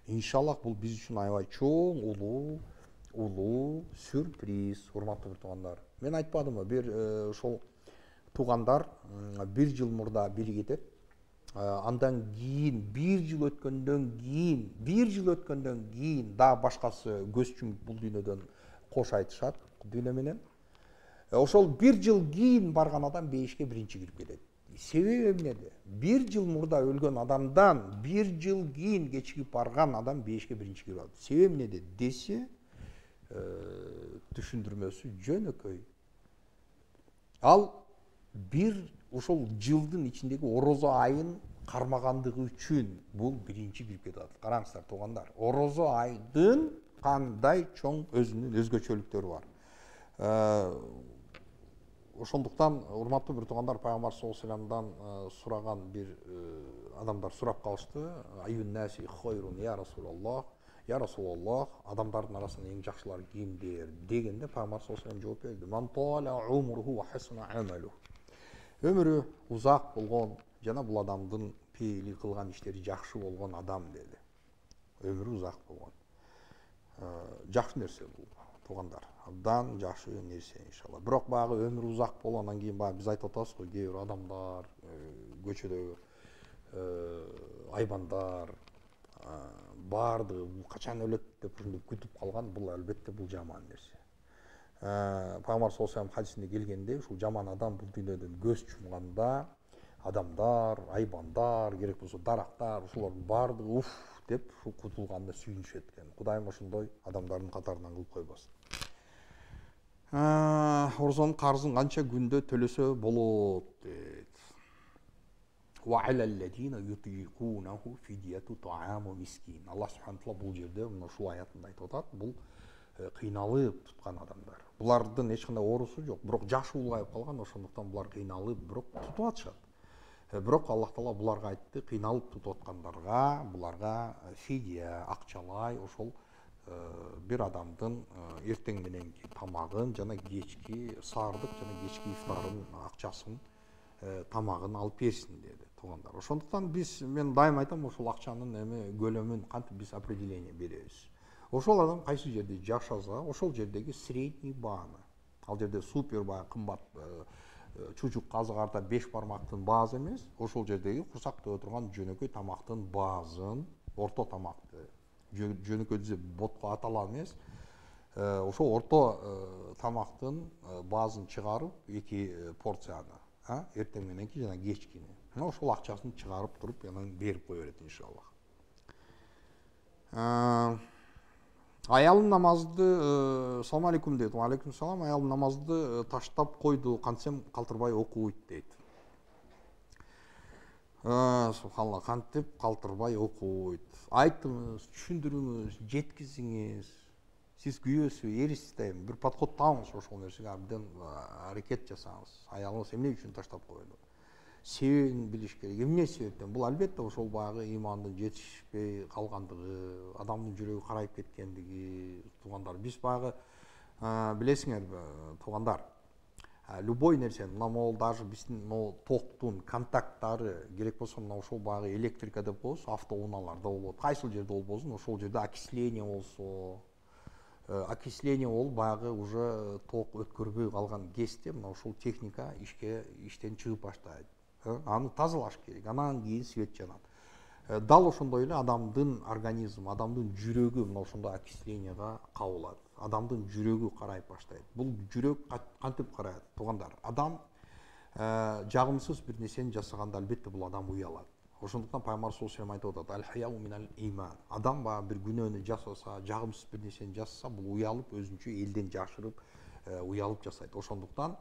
иншаллах бул биз үчүн аябай чоң, улуу, улуу сюрприз, урматтуу туугандар. Мен айтпадымбы, бир ошол туугандар бир жыл мурда бири кетет. Андан кийин бир жыл өткөндөн кийин, бир жыл өткөндөн кийин да башкасы көз чүмүп бул дүйнөдөн кош айтышат дүйнө менен. Ошол бир жыл кийин барган адам бейишке биринчи кирип кетет. Себеби эмнеде? Бир жыл мурда өлгөн адамдан бир жыл кийин кечигип барган адам бейишке биринчи кирип алат. Себеби эмнеде десе, түшүндүрмөсү жөнөкөй. Ал бир ошол жылдын ичиндеги орозо айын кармагандыгы үчүн бул биринчи кирип кетет. Караңыздар туугандар, орозо айдын кандай чоң өзүнүн өзгөчөлүктөрү бар. Ошондуктан урматтуу бир туугандар, пайгамбар саллаллаху алейхи вассаламдан сураган бир адамдар сурап калышты. Айюн наси хойрун я Расулаллах, я Расулаллах, адамдардын арасында эң жакшылары кимдер дегенде пайгамбар саллаллаху алейхи вассалам жооп берди. Ман тала умруху ва хасана амалу. Өмүрү узак болгон жана бул адамдын пейили кылган иштери жакшы болгон адам деди. Өмүрү узак болгон. Жакшы нерсе бул, туугандар. Абдан жакшы нерсе иншалла. Бирок баягы өмүрү узак болгондон кийин баягы биз айтып атабыз го, кээ бир адамдар көчөдө айбандар баардыгы бул качан өлөт деп ушинтип күтүп калган, бул албетте бул жаман нерсе. Пайгамбар саллаллаху алейхи вассалам хадисинде келгенде, ушул жаман адам бул дүйнөдөн көз чумганда адамдар, айбандар, керек болсо дарактар, ушулардын баардыгы уф деп ушул кутулганына сүйүнүшөт экен. Кудайым ошондой адамдардын катарынан кылып койбосун. Орзонун карзын канча күндө төлөсө болот дейт. Ва алаллазина ютиқунаху фидияту тааму мискин. Алла субханаху таала бул жерде мына ушул аятында айтып атат, бул кыйналып туткан адамдар. Булардын эч кандай оорусу жок, бирок жашы улгайып калган, ошондуктан булар кыйналып бирок тутуп атышат. Бирок Аллах таала буларга айтты, кыйналып тутуп аткандарга буларга фидия, акчалай ошол бир адамдын эртең мененки тамагын жана кечки саардык жана кечки ифтарын акчасын, тамагын алып берсин деди, туугандар. Ошондуктан биз, мен дайым айтам, ошол акчанын эми көлөмүн кантип биз определение беребиз. Ошол адам кайсы жерде жашаса, ошол жердеги средний бааны. Ал жерде супер баа кымбат чучук казы карта беш бармактын баазы эмес, ошол жердеги курсак төбө турган жөнөкөй тамактын баазын, орто тамакты, жөнөкөй десе ботко атала эмес, ошол орто тамактын баазын чыгарып, эки порцияны, эртең мененки жана кечкини. Ошол акчасын чыгарып туруп, анан берип кое берет иншаллах. Аялым намазды, салам алейкум дейт. Ва алейкум салам. Аялым намазды таштап койду, кантсем калтырбай окуйт дейт. Субханалла, кантип калтырбай окуйт. Айттыңыз, түшүндүрүңүз, жеткизиңиз. Сиз күйөөсү, эрисиз да эми бир подход табыңыз ошол нерсеге, абдан аракет жасаңыз. Аялыңыз эмне үчүн таштап койду? Себебин билиш керек. Эмне себептен? Бул албетте ошол баягы имандын жетишпей калгандыгы, адамдын жүрөгү карайып кеткендиги, туугандар. Биз баягы билесиңерби, туугандар, любой нерсе, мына могул даже биздин могул токтун контакттары, керек болсо мына ошол баягы электрика деп коебуз, автоунааларда болот. Кайсыл жерде болбосун, ошол жерде окисление болсо, окисление болуп баягы уже ток өткөрбөй калган кезде мына ушул техника ишке иштен чыгып баштайт. Аны тазалаш керек, анан кийин свет жанат. Дал ошондой эле адамдын организми, адамдын жүрөгү мына ошондой окислениега кабылат. Адамдын жүрөгү карайып баштайт. Бул жүрөк кантип карайт, туугандар? Адам жагымсыз бир нерсени жасаганда албетте бул адам уялат. Ошондуктан пайгамбар саллаллаху алейхи вассалам айтып атат: "Аль-хаяу минал иман". Адам баягы бир күнөөнү жасаса, жагымсыз бир нерсени жасаса, бул уялып, өзүнчө элден жашырып, уялып жасайт. Ошондуктан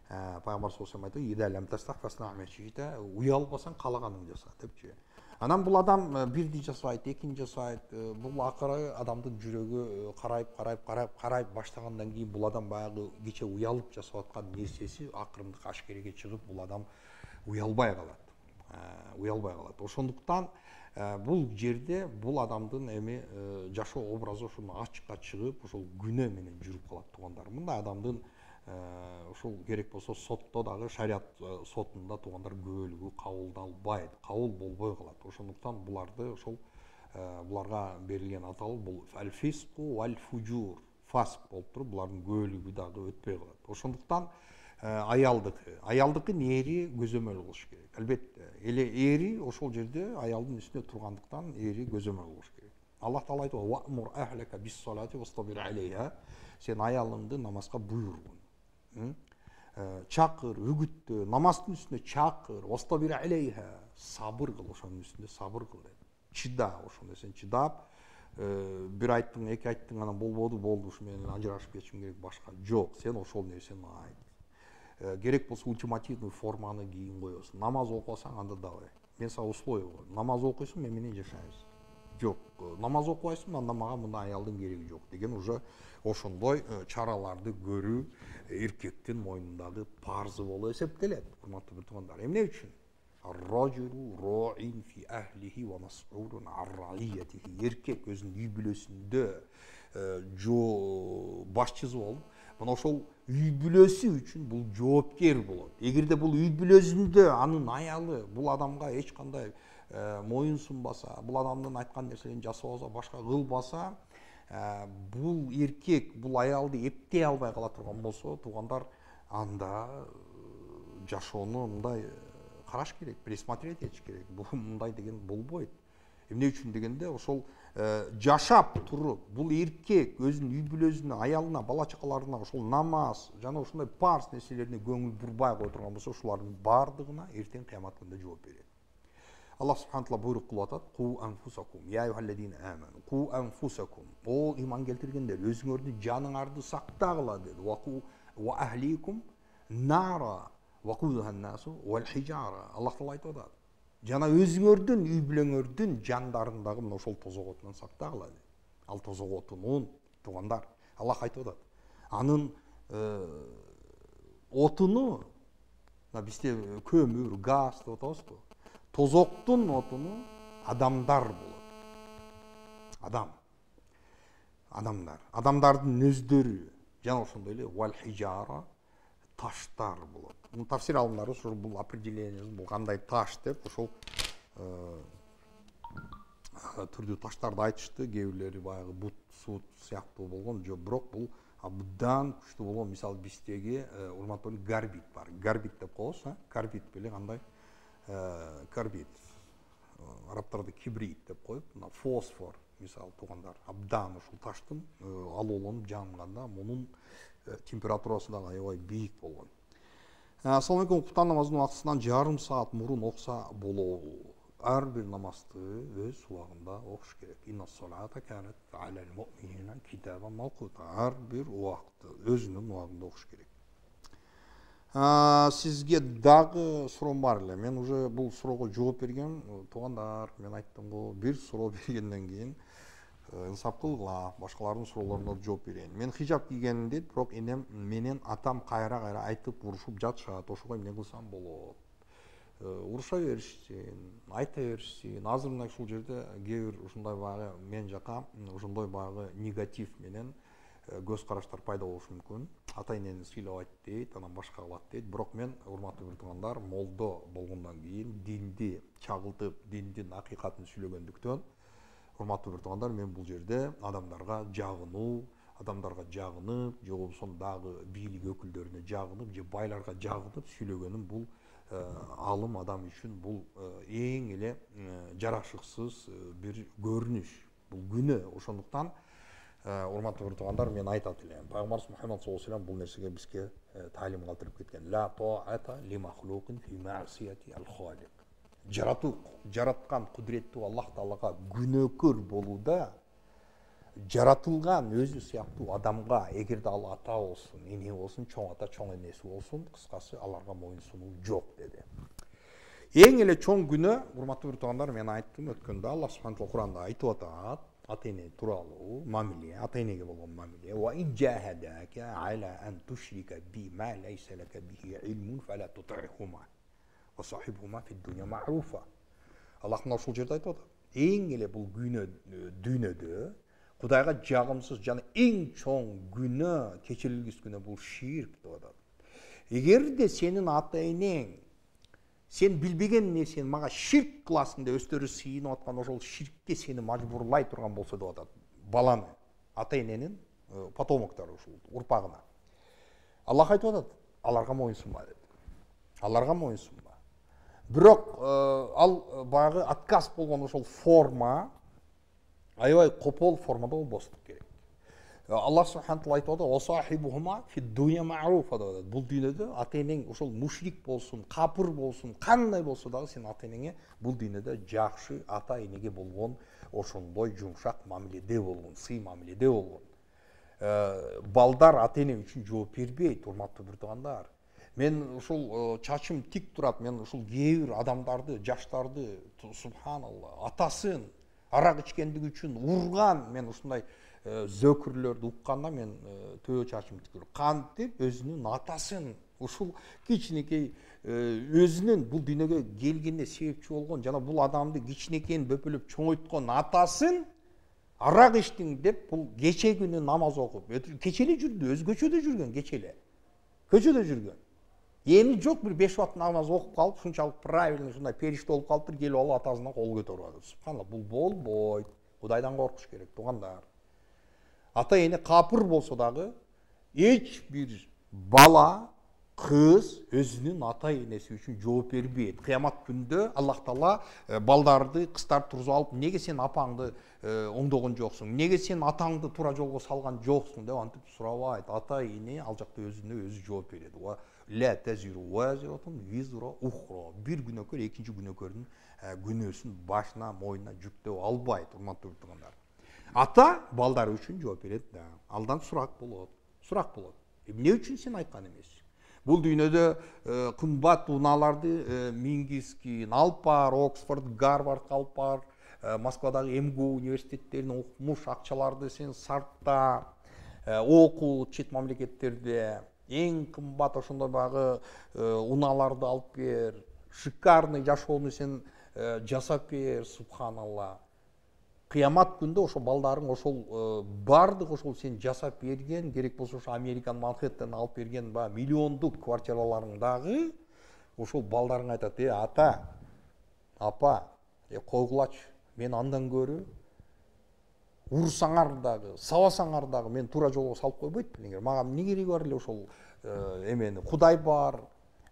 пайгамбар саллаллаху алейхи вассалам айтты: "Ида лам тастахфасна амечита", уялбасаң каалаганыңды жаса депчи. Анан бул адам бирди жасайт, экини жасайт. Бул акыры адамдын жүрөгү карайып, карайып, карайып, карайып баштагандан кийин бул адам баягы кече уялып жасап аткан нерсеси акырындык ашкереге чыгып, бул адам уялбай калат. Уялбай калат. Ошондуктан бул жерде бул адамдын эми жашоо образы ошону ачыкка чыгып, ошол күнөө менен жүрүп калат, туугандар. Мындай адамдын ушул керек болсо сотто дагы, шарият сотунда туугандар көбөлүгү кабылдалбайт, кабыл болбой калат. Ошондуктан буларды ошол буларга берилген аталуу бул аль-фиску валь-фужур, фаск болуп туруп, булардын көбөлүгү дагы өтпөй калат. Ошондуктан аялдыкы, аялдыкын эри көзөмөл кылыш керек. Албетте, эле эри ошол жерде аялдын үстүнө тургандыктан эри көзөмөл кылыш керек. Аллах таала айтып: "Ва'мур ахлака бис-салати вастабир алейха". Сен аялыңды намазга буйрур. Чакыр, үгүттө, намаздын үстүнө чакыр, вастабир алейха, сабыр кыл, ошонун үстүнө сабыр кыл дейт. Чыда, ошол нерсени чыдап, бир айттың, эки айттың, анан болбоду, болду, ушу менен ажырашып кетишим керек, башка жок. Сен ошол нерсени айт. Керек болсо ультимативный форманы кийин коесуң. Намаз окусаң, анда давай. Мен сага условие коюм. Намаз окуйсуң, мен менен жашайсың. жок, намаз окубайсың, анда мага мындай аялдын кереги жок деген уже ошондой чараларды көрүү эркектин мойнундагы парзы болуп эсептелет. Урматтуу бир туугандар, эмне үчүн? Ar-rajulu ra'in fi ahlihi wa mas'ulun an ra'iyatihi. Эркек өзүнүн үй бүлөсүндө жо башчысы болуп, мына ошол үй бүлөсү үчүн бул жоопкер болот. Эгерде бул үй бүлөсүндө анын аялы бул адамга эч кандай моюн сунбаса, бул адамдын айткан нерселерин жасабаса, башка кылбаса, бул эркек бул аялды эптей албай кала турган болсо, туугандар, анда жашоону мындай караш керек, пересмотреть этиш керек. Бул мындай деген болбойт. Эмне үчүн дегенде, ошол жашап туруп, бул эркек өзүнүн үй бүлөсүнө, аялына, бала чакаларына ошол намаз жана ошондой парз нерселерине көңүл бурбай кой турган болсо, ушулардын бардыгына эртең кыямат күнүндө жооп берет. Аллах субхана таала буйрук кылып атат: "Ку анфусакум, я айюхаллазина аману, ку анфусакум". О иман келтиргендер, өзүңөрдүн жаныңарды сактагыла деди. Ва ку ва ахликум нара ва кудухан насу вал хижара. Аллах таала айтып атат. Жана өзүңөрдүн үй бүлөңөрдүн жандарын мына ошол тозок отунан сактагыла деди. Ал тозок отунун, туугандар, Аллах айтып атат. Анын отуну, бизде көмүр, газ деп атабызбы? Тозоктун отуну адамдар болот. Адам. Адамдар. Адамдардын өздөрү жана ошондой эле вал хижара, таштар болот. Бул тафсир алымдары ошол бул определение, бул кандай таш деп ошол түрдүү таштарды айтышты. Кээ бирлери баягы бут, сут сыяктуу болгон, жок, бирок бул абдан күчтүү болгон. Мисалы биздеги урматтуу гарбит бар. Гарбит деп коебуз, а? Карбит беле кандай? Карбит. Арабтарда кибрит деп коюп, мына фосфор, мисалы туугандар, абдан ушул таштын алууланып жанганда мунун температурасы дагы аябай бийик болгон. Ассаламу алейкум, куптан намазынын убактысынан жарым саат мурун окса болобу? Ар бир намазды өз убагында окуш керек. Инна-ссалата канат алал муъминина китабан мавкута. Ар бир убакты өзүнүн убагында окуш керек. Сизге дагы суроом бар эле. Мен уже бул суроого жооп бергем. Туугандар, мен айттым го, бир суроо бергенден кийин инсап кылгыла, башкалардын суроолоруна жооп берейин. Мен хижап кийгеним дейт, бирок энем менен атам кайра-кайра айтып урушуп жатышат. Ошого эмне кылсам болот? Уруша беришсин, айта беришсин. Азыр мына ушул жерде кээ бир ушундай баягы мен жака ошондой баягы негатив менен көз караштар пайда болушу мүмкүн. Ата энени сыйлабайт дейт, анан башка кылат дейт. Бирок мен, урматтуу бир туугандар, молдо болгондон кийин динди чагылтып, диндин акыйкатын сүйлөгөндүктөн, урматтуу бир туугандар, мен бул жерде адамдарга жагынуу, адамдарга жагынып, же болбосо дагы бийлик өкүлдөрүнө жагынып, же байларга жагынып сүйлөгөнүм бул алым адам үчүн бул эң эле жарашыксыз бир көрүнүш, бул күнөө. Ошондуктан урматтуу бир туугандар, мен айтат элем, Пайгамбарыбыз Мухаммад саллаллаху алейхи ва саллям бул нерсеге бизге таалим калтырып кеткен. Ла таата ли махлукин фи маъсияти ал-халик. Жаратуу, жараткан кудуреттүү Аллах Таалага күнөөкөр болууда жаратылган өзү сыяктуу адамга, эгерде ал ата болсун, эне болсун, чоң ата, чоң энеси болсун, кыскасы аларга моюн сунуу жок деди. Эң эле чоң күнөө, урматтуу бир туугандар, мен айттым өткөндө, Аллах субхана таала Куранда айтып атат, ата эне тууралуу мамиле, ата энеге болгон мамиле. Ва иджахадака аля ан тушрика би ма лайса лака бихи илмун фала тутихума ва сахибхума фи дуnya ма'руфа. Аллах мына ушул жерде айтып атат. Эң эле бул күнөө дүйнөдө Кудайга жагымсыз жана эң чоң күнөө, кечирилгис күнөө бул ширк деп атат. Эгерде сенин ата энең сен билбеген нерсени мага ширк кыласың деп өздөрү сыйынып аткан ошол ширкке сени мажбурлай турган болсо деп атат. Баланы, ата эненин потомоктору, ушул урпагына. Аллах айтып атат, аларга моюн сунма деп. Аларга моюн сунма. Бирок ал баягы отказ болгон ошол форма аябай копол формада болбосу керек. Аллах субхана таала айтып атат, "Осахибухума фи дуnya ма'руфа" деп атат. Бул дүйнөдө ата энең ошол мушрик болсун, капыр болсун, кандай болсо дагы сен ата энеңе бул дүйнөдө жакшы ата энеге болгон ошондой жумшак мамиледе болгон, сый мамиледе болгон. Балдар ата эне үчүн жооп бербейт, урматтуу бир туугандар. Мен ушул чачым тик турат, мен ушул кээ бир адамдарды, жаштарды, субханалла, атасын арак ичкендиги үчүн урган. Мен ушундай зөкүрлөрдү укканда мен төбө чачым түкүрүп кантип өзүнүн атасын ушул кичинекей өзүнүн бул дүйнөгө келгенине себепчи болгон жана бул адамды кичинекейин бөпөлөп чоңойткон атасын арак ичтиң деп бул кече күнү намаз окуп кече эле жүрдү, өзгөчө да жүргөн, кече эле көчөдө жүргөн. Эми жок бир беш убакыт намаз окуп калып ушунчалык правильный ушундай периште болуп калыптыр, келип алып атасынан кол көтөрүп атат. Субханалла, бул болбойт. Кудайдан коркуш керек, туугандар. Ата эне капыр болсо дагы эч бир бала, кыз өзүнүн ата энеси үчүн жооп бербейт. Кыямат күндө Аллах Таала балдарды, кыздарды тургузуп алып, неге сен апаңды оңдогон жоксуң, неге сен атаңды туура жолго салган жоксуң деп антип сурабайт. Ата эне ал жакта өзүнө өзү жооп берет. Ла тазиру вазиратун визра ухра. Бир күнөөкөр экинчи күнөөкөрдүн күнөөсүн башына, мойнуна жүктөп албайт, урматтуу туугандар. Ата балдары үчүн жооп берет да. Алдан сурак болот. Сурак болот. Эмне үчүн сен айткан эмессиң? Бул дүйнөдө кымбат унааларды Мингискин алып бар, Оксфорд, Гарвард алып бар, Москвадагы эм гэ у университеттерин окумуш акчаларды сен сарпта, окуу чет мамлекеттерде эң кымбат ошондой багы унааларды алып бер, шикарный жашоону сен жасап бер, субханалла. Кыямат күндө ошо балдарың ошол бардык ошол сен жасап берген, керек болсо ошо Американ Манхэттен алып берген ба миллиондук квартираларыңдагы ошол балдарың айтат: "Э, ата, апа, э койгулачы, мен андан көрө урсаңар дагы, сабасаңар дагы мен туура жолго салып койбойт белеңер. Мага эмне кереги бар эле ошол эмени, Кудай бар,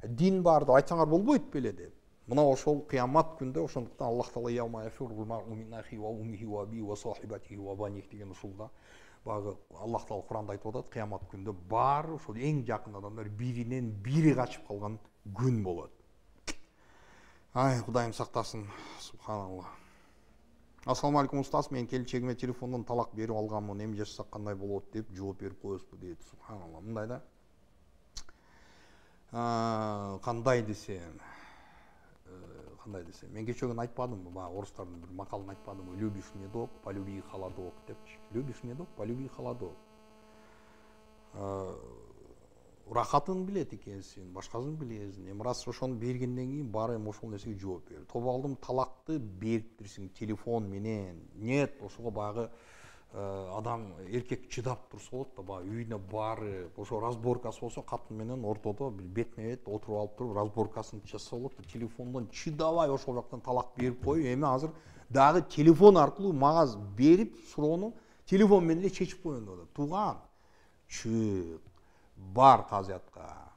дин бар деп айтсаңар болбойт беле" деп. Мына ошол кыямат күндө ошондуктан Аллах Таала яума яфирул мар'у мин ахи ва уммихи ва аби ва сахибатихи ва баних деген ушулда багы Аллах Таала Куранда айтып атат, кыямат күндө баары ошол эң жакын адамдар биринен бири качып калган күн болот. Ай, Кудайым сактасын, субханалла. Ассаламу алейкум устаз, мен келечегиме телефондон талак берип алганмын, эми жашасак кандай болот деп жооп берип коесузбу дейт. Субханалла. Мындай да. Кандай десем, кандай десем, мен кечээ күнү айтпадымбы, баягы орустардын бир макалын айтпадымбы? Любишь медок, полюби холодок депчи. Любишь медок, полюби холодок. Рахатын билет экенсиң, башкасын билесиң. Эми раз ошону бергенден кийин баары эми ошол нерсеге жооп бер. Тобалдым талакты бериптирсиң телефон менен. Нет, ошого багы адам эркек чыдап турса болот да, баягы үйүнө баары ошо разборкасы болсо катын менен ортодо бетме бет отуруп алып туруп разборкасын жасаса болот да, телефондон чыдабай ошол жактан талак берип коюп, эми азыр дагы телефон аркылуу мага берип суроону телефон менен эле чечип коеюн деп атат. Тууган, чык, бар казиятка,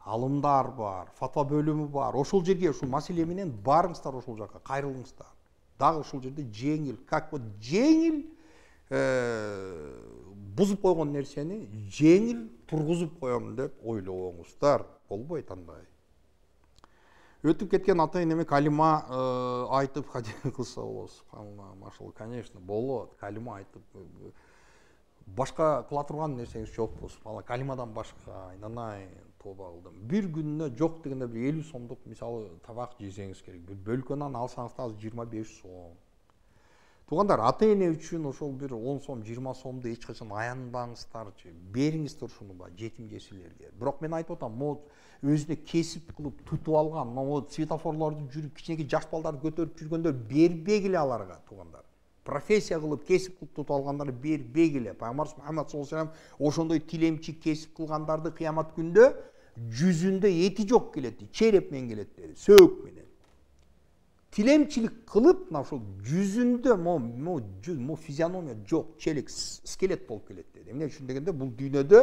алымдар бар, фатва бөлүмү бар, ошол жерге ушул маселе менен барыңыздар, ошол жака кайрылыңыздар. Дагы ошол жерде жеңил, как вот жеңил бузуп койгон нерсени жеңил тургузуп коем деп ойлобоңуздар. Болбойт андай. Өтүп кеткен ата энеме калима айтып хадия кылса болот. Субханалла, машалла, конечно, болот. Калима айтып башка кыла турган нерсеңиз жокпу? Субханалла, калимадан башка, айнанай, тоба кылдым. Бир күнүнө жок дегенде бир элүү сомдук мисалы табак жесеңиз керек. Бир бөлкөнөн алсаңыз да жыйырма беш сом. Туугандар, ата эне үчүн ошол бир он сом, жыйырма сомду эч качан аянбаңыздарчы. Бериңиздер ушуну ба жетим жесирлерге. Бирок мен айтып атам, могу өзүнө кесип кылып тутуп алган, могу светофорлорду жүрүп кичинекей жаш балдарды көтөрүп жүргөндөр бербегиле аларга, туугандар. Профессия кылып кесип кылып тутуп алгандар бербегиле. Пайгамбар Мухаммад саллаллаху алейхи ва саллям ошондой тилемчи кесип кылгандарды кыямат күндө жүзүндө эти жок келет, череп менен келет dedi, сөөк менен. Тилемчилик кылып, мына ошол жүзүндө мо мо мо физиономия жок, челек, скелет болуп келет dedi. Эмне үчүн дегенде, бул дүйнөдө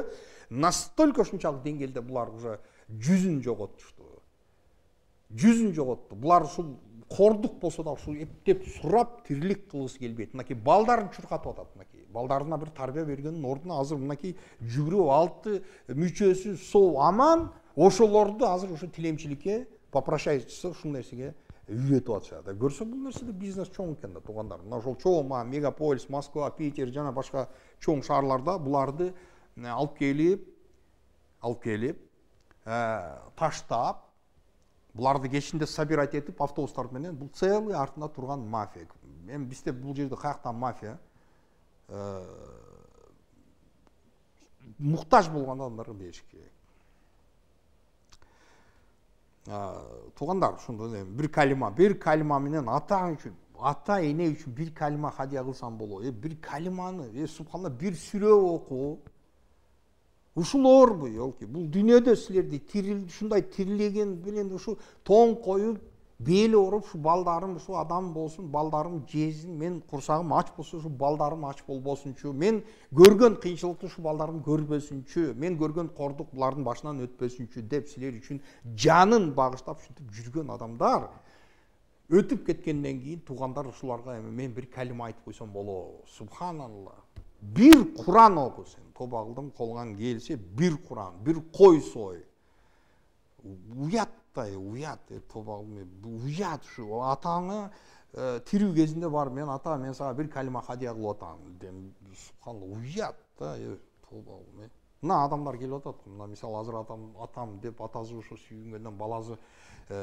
настолько ушунчалык деңгээлде булар уже жүзүн жоготтушту. Жүзүн жоготту. Булар ушул кордук болсо да ушул эптеп сурап тирилик кылгысы келбейт. Мынакей балдарын чуркатып атат, мынакей. Балдарына бир тарбия бергендин ордуна азыр мынакей жүгүрүп алты мүчөсү соо аман, ошолорду азыр ошо тилемчиликке попрощайчысы ушул нерсеге үйрөтүп атышат. Көрсө бул нерседе бизнес чоң экен да, туугандар. Мына ошол чоң мегаполис, Москва, Питер жана башка чоң шаарларда буларды алып келип, алып келип, таштап, буларды кечинде собирать этип автобустар менен, бул целый артында турган мафия. эми бизде бул жерде каяктан мафия муктаж болгон адамдарга бериш керек. Туугандар, ошондо бир калима, бир калима менен ата үчүн, ата эне үчүн бир калима хадия кылсам болот. Э бир калиманы, э субханалла, бир сүрө окуу. Ушулорбу, ёлки, бул дүйнөдө силерди тирил, ушундай тирилеген менен ушу тоң коюп, бели ооруп, ушу балдарым ушу адам болсун, балдарым жезин, мен курсагым ач болсо ушу балдарым ач болбосунчу, мен көргөн кыйынчылыкты ушу балдарым көрбөсүнчү, мен көргөн кордук булардын башынан өтпөсүнчү деп силер үчүн жанын багыштап ушинтип жүргөн адамдар өтүп кеткенден кийин туугандар ушуларга эми мен бир калима айтып койсом болот. Субханалла. Бир Куран оку сен. Тоба кылдым, колуңан келсе бир Куран, бир кой сой. Уяттай, уят, тоба кылдым, уят ушу. Атаңа тирүү кезинде бар, мен ата, мен сага бир калима хадия кылып атам. Субханалла, уят да, тоба кылдым. Мына адамдар келип атат. Мына мисалы азыр атам, атам деп атасы ошо сүйүнгөндөн баласы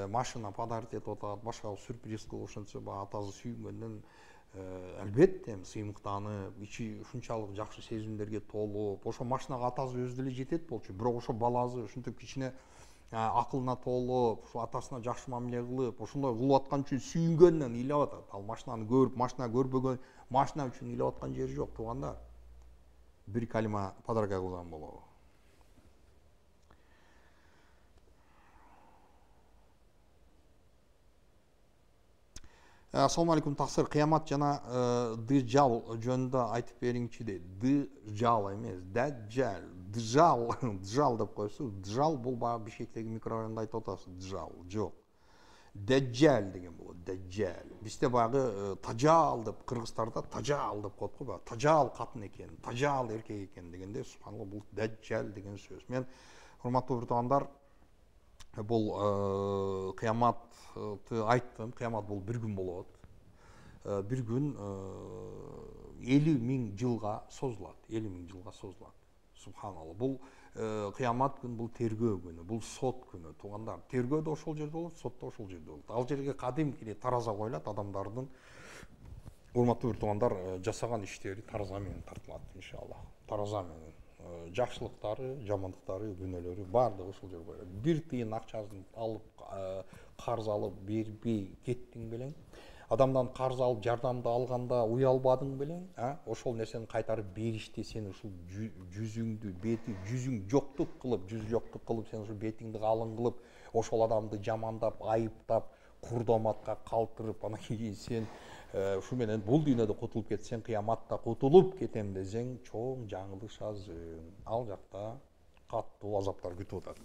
машина подарить этип атат, башка сюрприз кылып ошентсе, баягы атасы сүйүнгөндөн албетте сыймыктанып, ичи ушунчалык жакшы сезимдерге толуп, ошо машинага атасы өзү деле жетет болчу, бирок ошо баласы ушинтип кичине акылына толуп, ушу атасына жакшы мамиле кылып, ошондой кылып аткан үчүн сүйүнгөндөн ыйлап атат. Ал машинаны көрүп, машина көрбөгөн, машина үчүн ыйлап аткан жери жок, туугандар. Бир калима подарка кылган болобу. Assalamu alaikum тақсыр, қиямат жана дыжал жөнүндө айтып бериңчи дейт. Дыжал эмес, даджал, дыжал, дыжал деп койсу, дыжал бул баягы Бишкектеги микрорайонду айтып атасыз, дыжал, жок. Даджал деген болот, даджал. Бизде баягы тажал деп, кыргыздарда тажал деп коет го, баягы тажал катын экен, тажал эркек экен дегенде, субханалла, бул даджал деген сөз. Мен урматтуу туугандар, бул кыяматты айттым. Кыямат бул бир күн болот. Бир күн элүү миң жылга созулат. элүү миң жылга созулат. Субханалла. Бул кыямат күн, бул тергөө күнү, бул сот күнү. Туугандар, тергөө да ошол жерде болот, сот да ошол жерде болот. Ал жерге кадимки тараза коюлат, адамдардын, урматтуу туугандар, жасаган иштери тараза менен тартылат, иншалла. Тараза менен. Жакшылыктары, жамандыктары, күнөөлөрү баардыгы ошол жерге коюлат. Бир тыйын акчасын алып, карз алып бербей кеттиң белең, адамдан карз алып жардамды алганда уялбадың белең, ошол нерсени кайтарып бериште сен ушул жүзүңдү, бети, жүзүң жоктук кылып, жүз жоктук кылып, сен ушул бетиңди калың кылып, ошол адамды жамандап, айыптап, курдоматка калтырып, анан кийин сен ушу менен бул дүйнөдө кутулуп кетсең, кыяматта кутулуп кетем десең, чоң жаңылышасың. Ал жакта каттуу азаптар күтүп атат.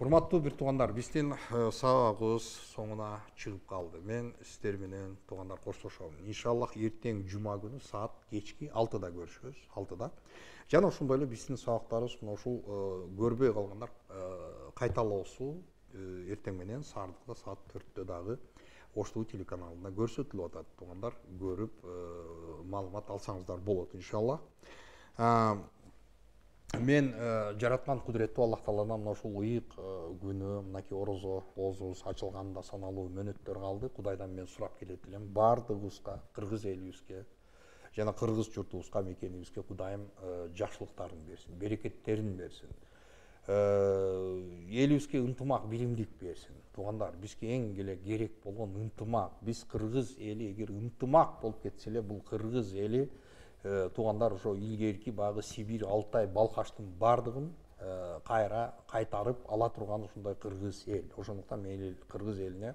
Урматтуу бир туугандар, биздин сабагыбыз соңуна чыгып калды. Мен сиздер менен туугандар коштошом. Иншаллах эртең жума күнү саат кечки алтыда көрүшөбүз, алтыда. Жана ошондой эле биздин сабактарыбыз мына ушул көрбөй калгандар кайталоосу эртең менен Саардыкта саат төрттө дагы Ош ТВ телеканалында көрсөтүлүп атат. Туугандар, көрүп маалымат алсаңыздар болот, иншалла. Мен жараткан кудуреттүү Аллах Тааладан мына ушул ыйык күнү, мынакей орозо оозубуз ачылганда саналуу мөөнөттөр калды. Кудайдан мен сурап келет элем, баардыгыбызга, кыргыз элибизге жана кыргыз журтубузга, мекенибизге Кудайым жакшылыктарын берсин, берекеттерин берсин. Элибизге ынтымак, билимдик берсин. Туугандар, бизге эң эле керек болгон ынтымак. Биз кыргыз эли эгер ынтымак болуп кетсе эле, бул кыргыз эли туугандар ошо илгерки багы Сибирь, Алтай, Балкаштын бардыгын кайра кайтарып ала турган ушундай кыргыз эл. Ошондуктан мен кыргыз элине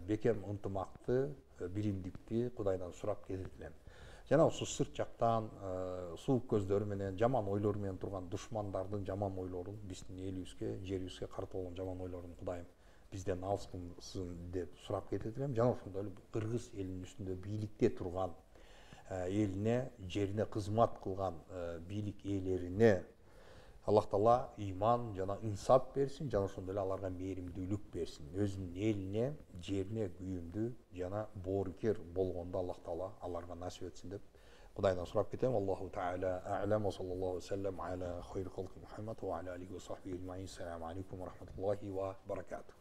бекем ынтымакты, билимдикти Кудайдан сурап келет элем. Жана ошо сырт жактан суук көздөрү менен, жаман ойлор менен турган душмандардын жаман ойлорун биздин элибизге, жерибизге карата болгон жаман ойлорун Кудайым бизден алсын деп сурап кетет элем. Жана ошондой эле кыргыз элинин үстүндө бийликте турган элине, жерине кызмат кылган бийлик ээлерине Аллах Таала ыйман жана инсап берсин, жана ошондой эле аларга мээримдүүлүк берсин. Өзүнүн элине, жерине күйүмдүү жана боорукер болгондо Аллах Таала аларга насип этсин деп Кудайдан сурап кетем. Аллаху таала а'лам ва саллаллаху саллам аля хайр халқи Мухаммад ва аля алихи ва сахбихи ажмаин. Ассаламу алейкум ва рахматуллахи ва баракатух.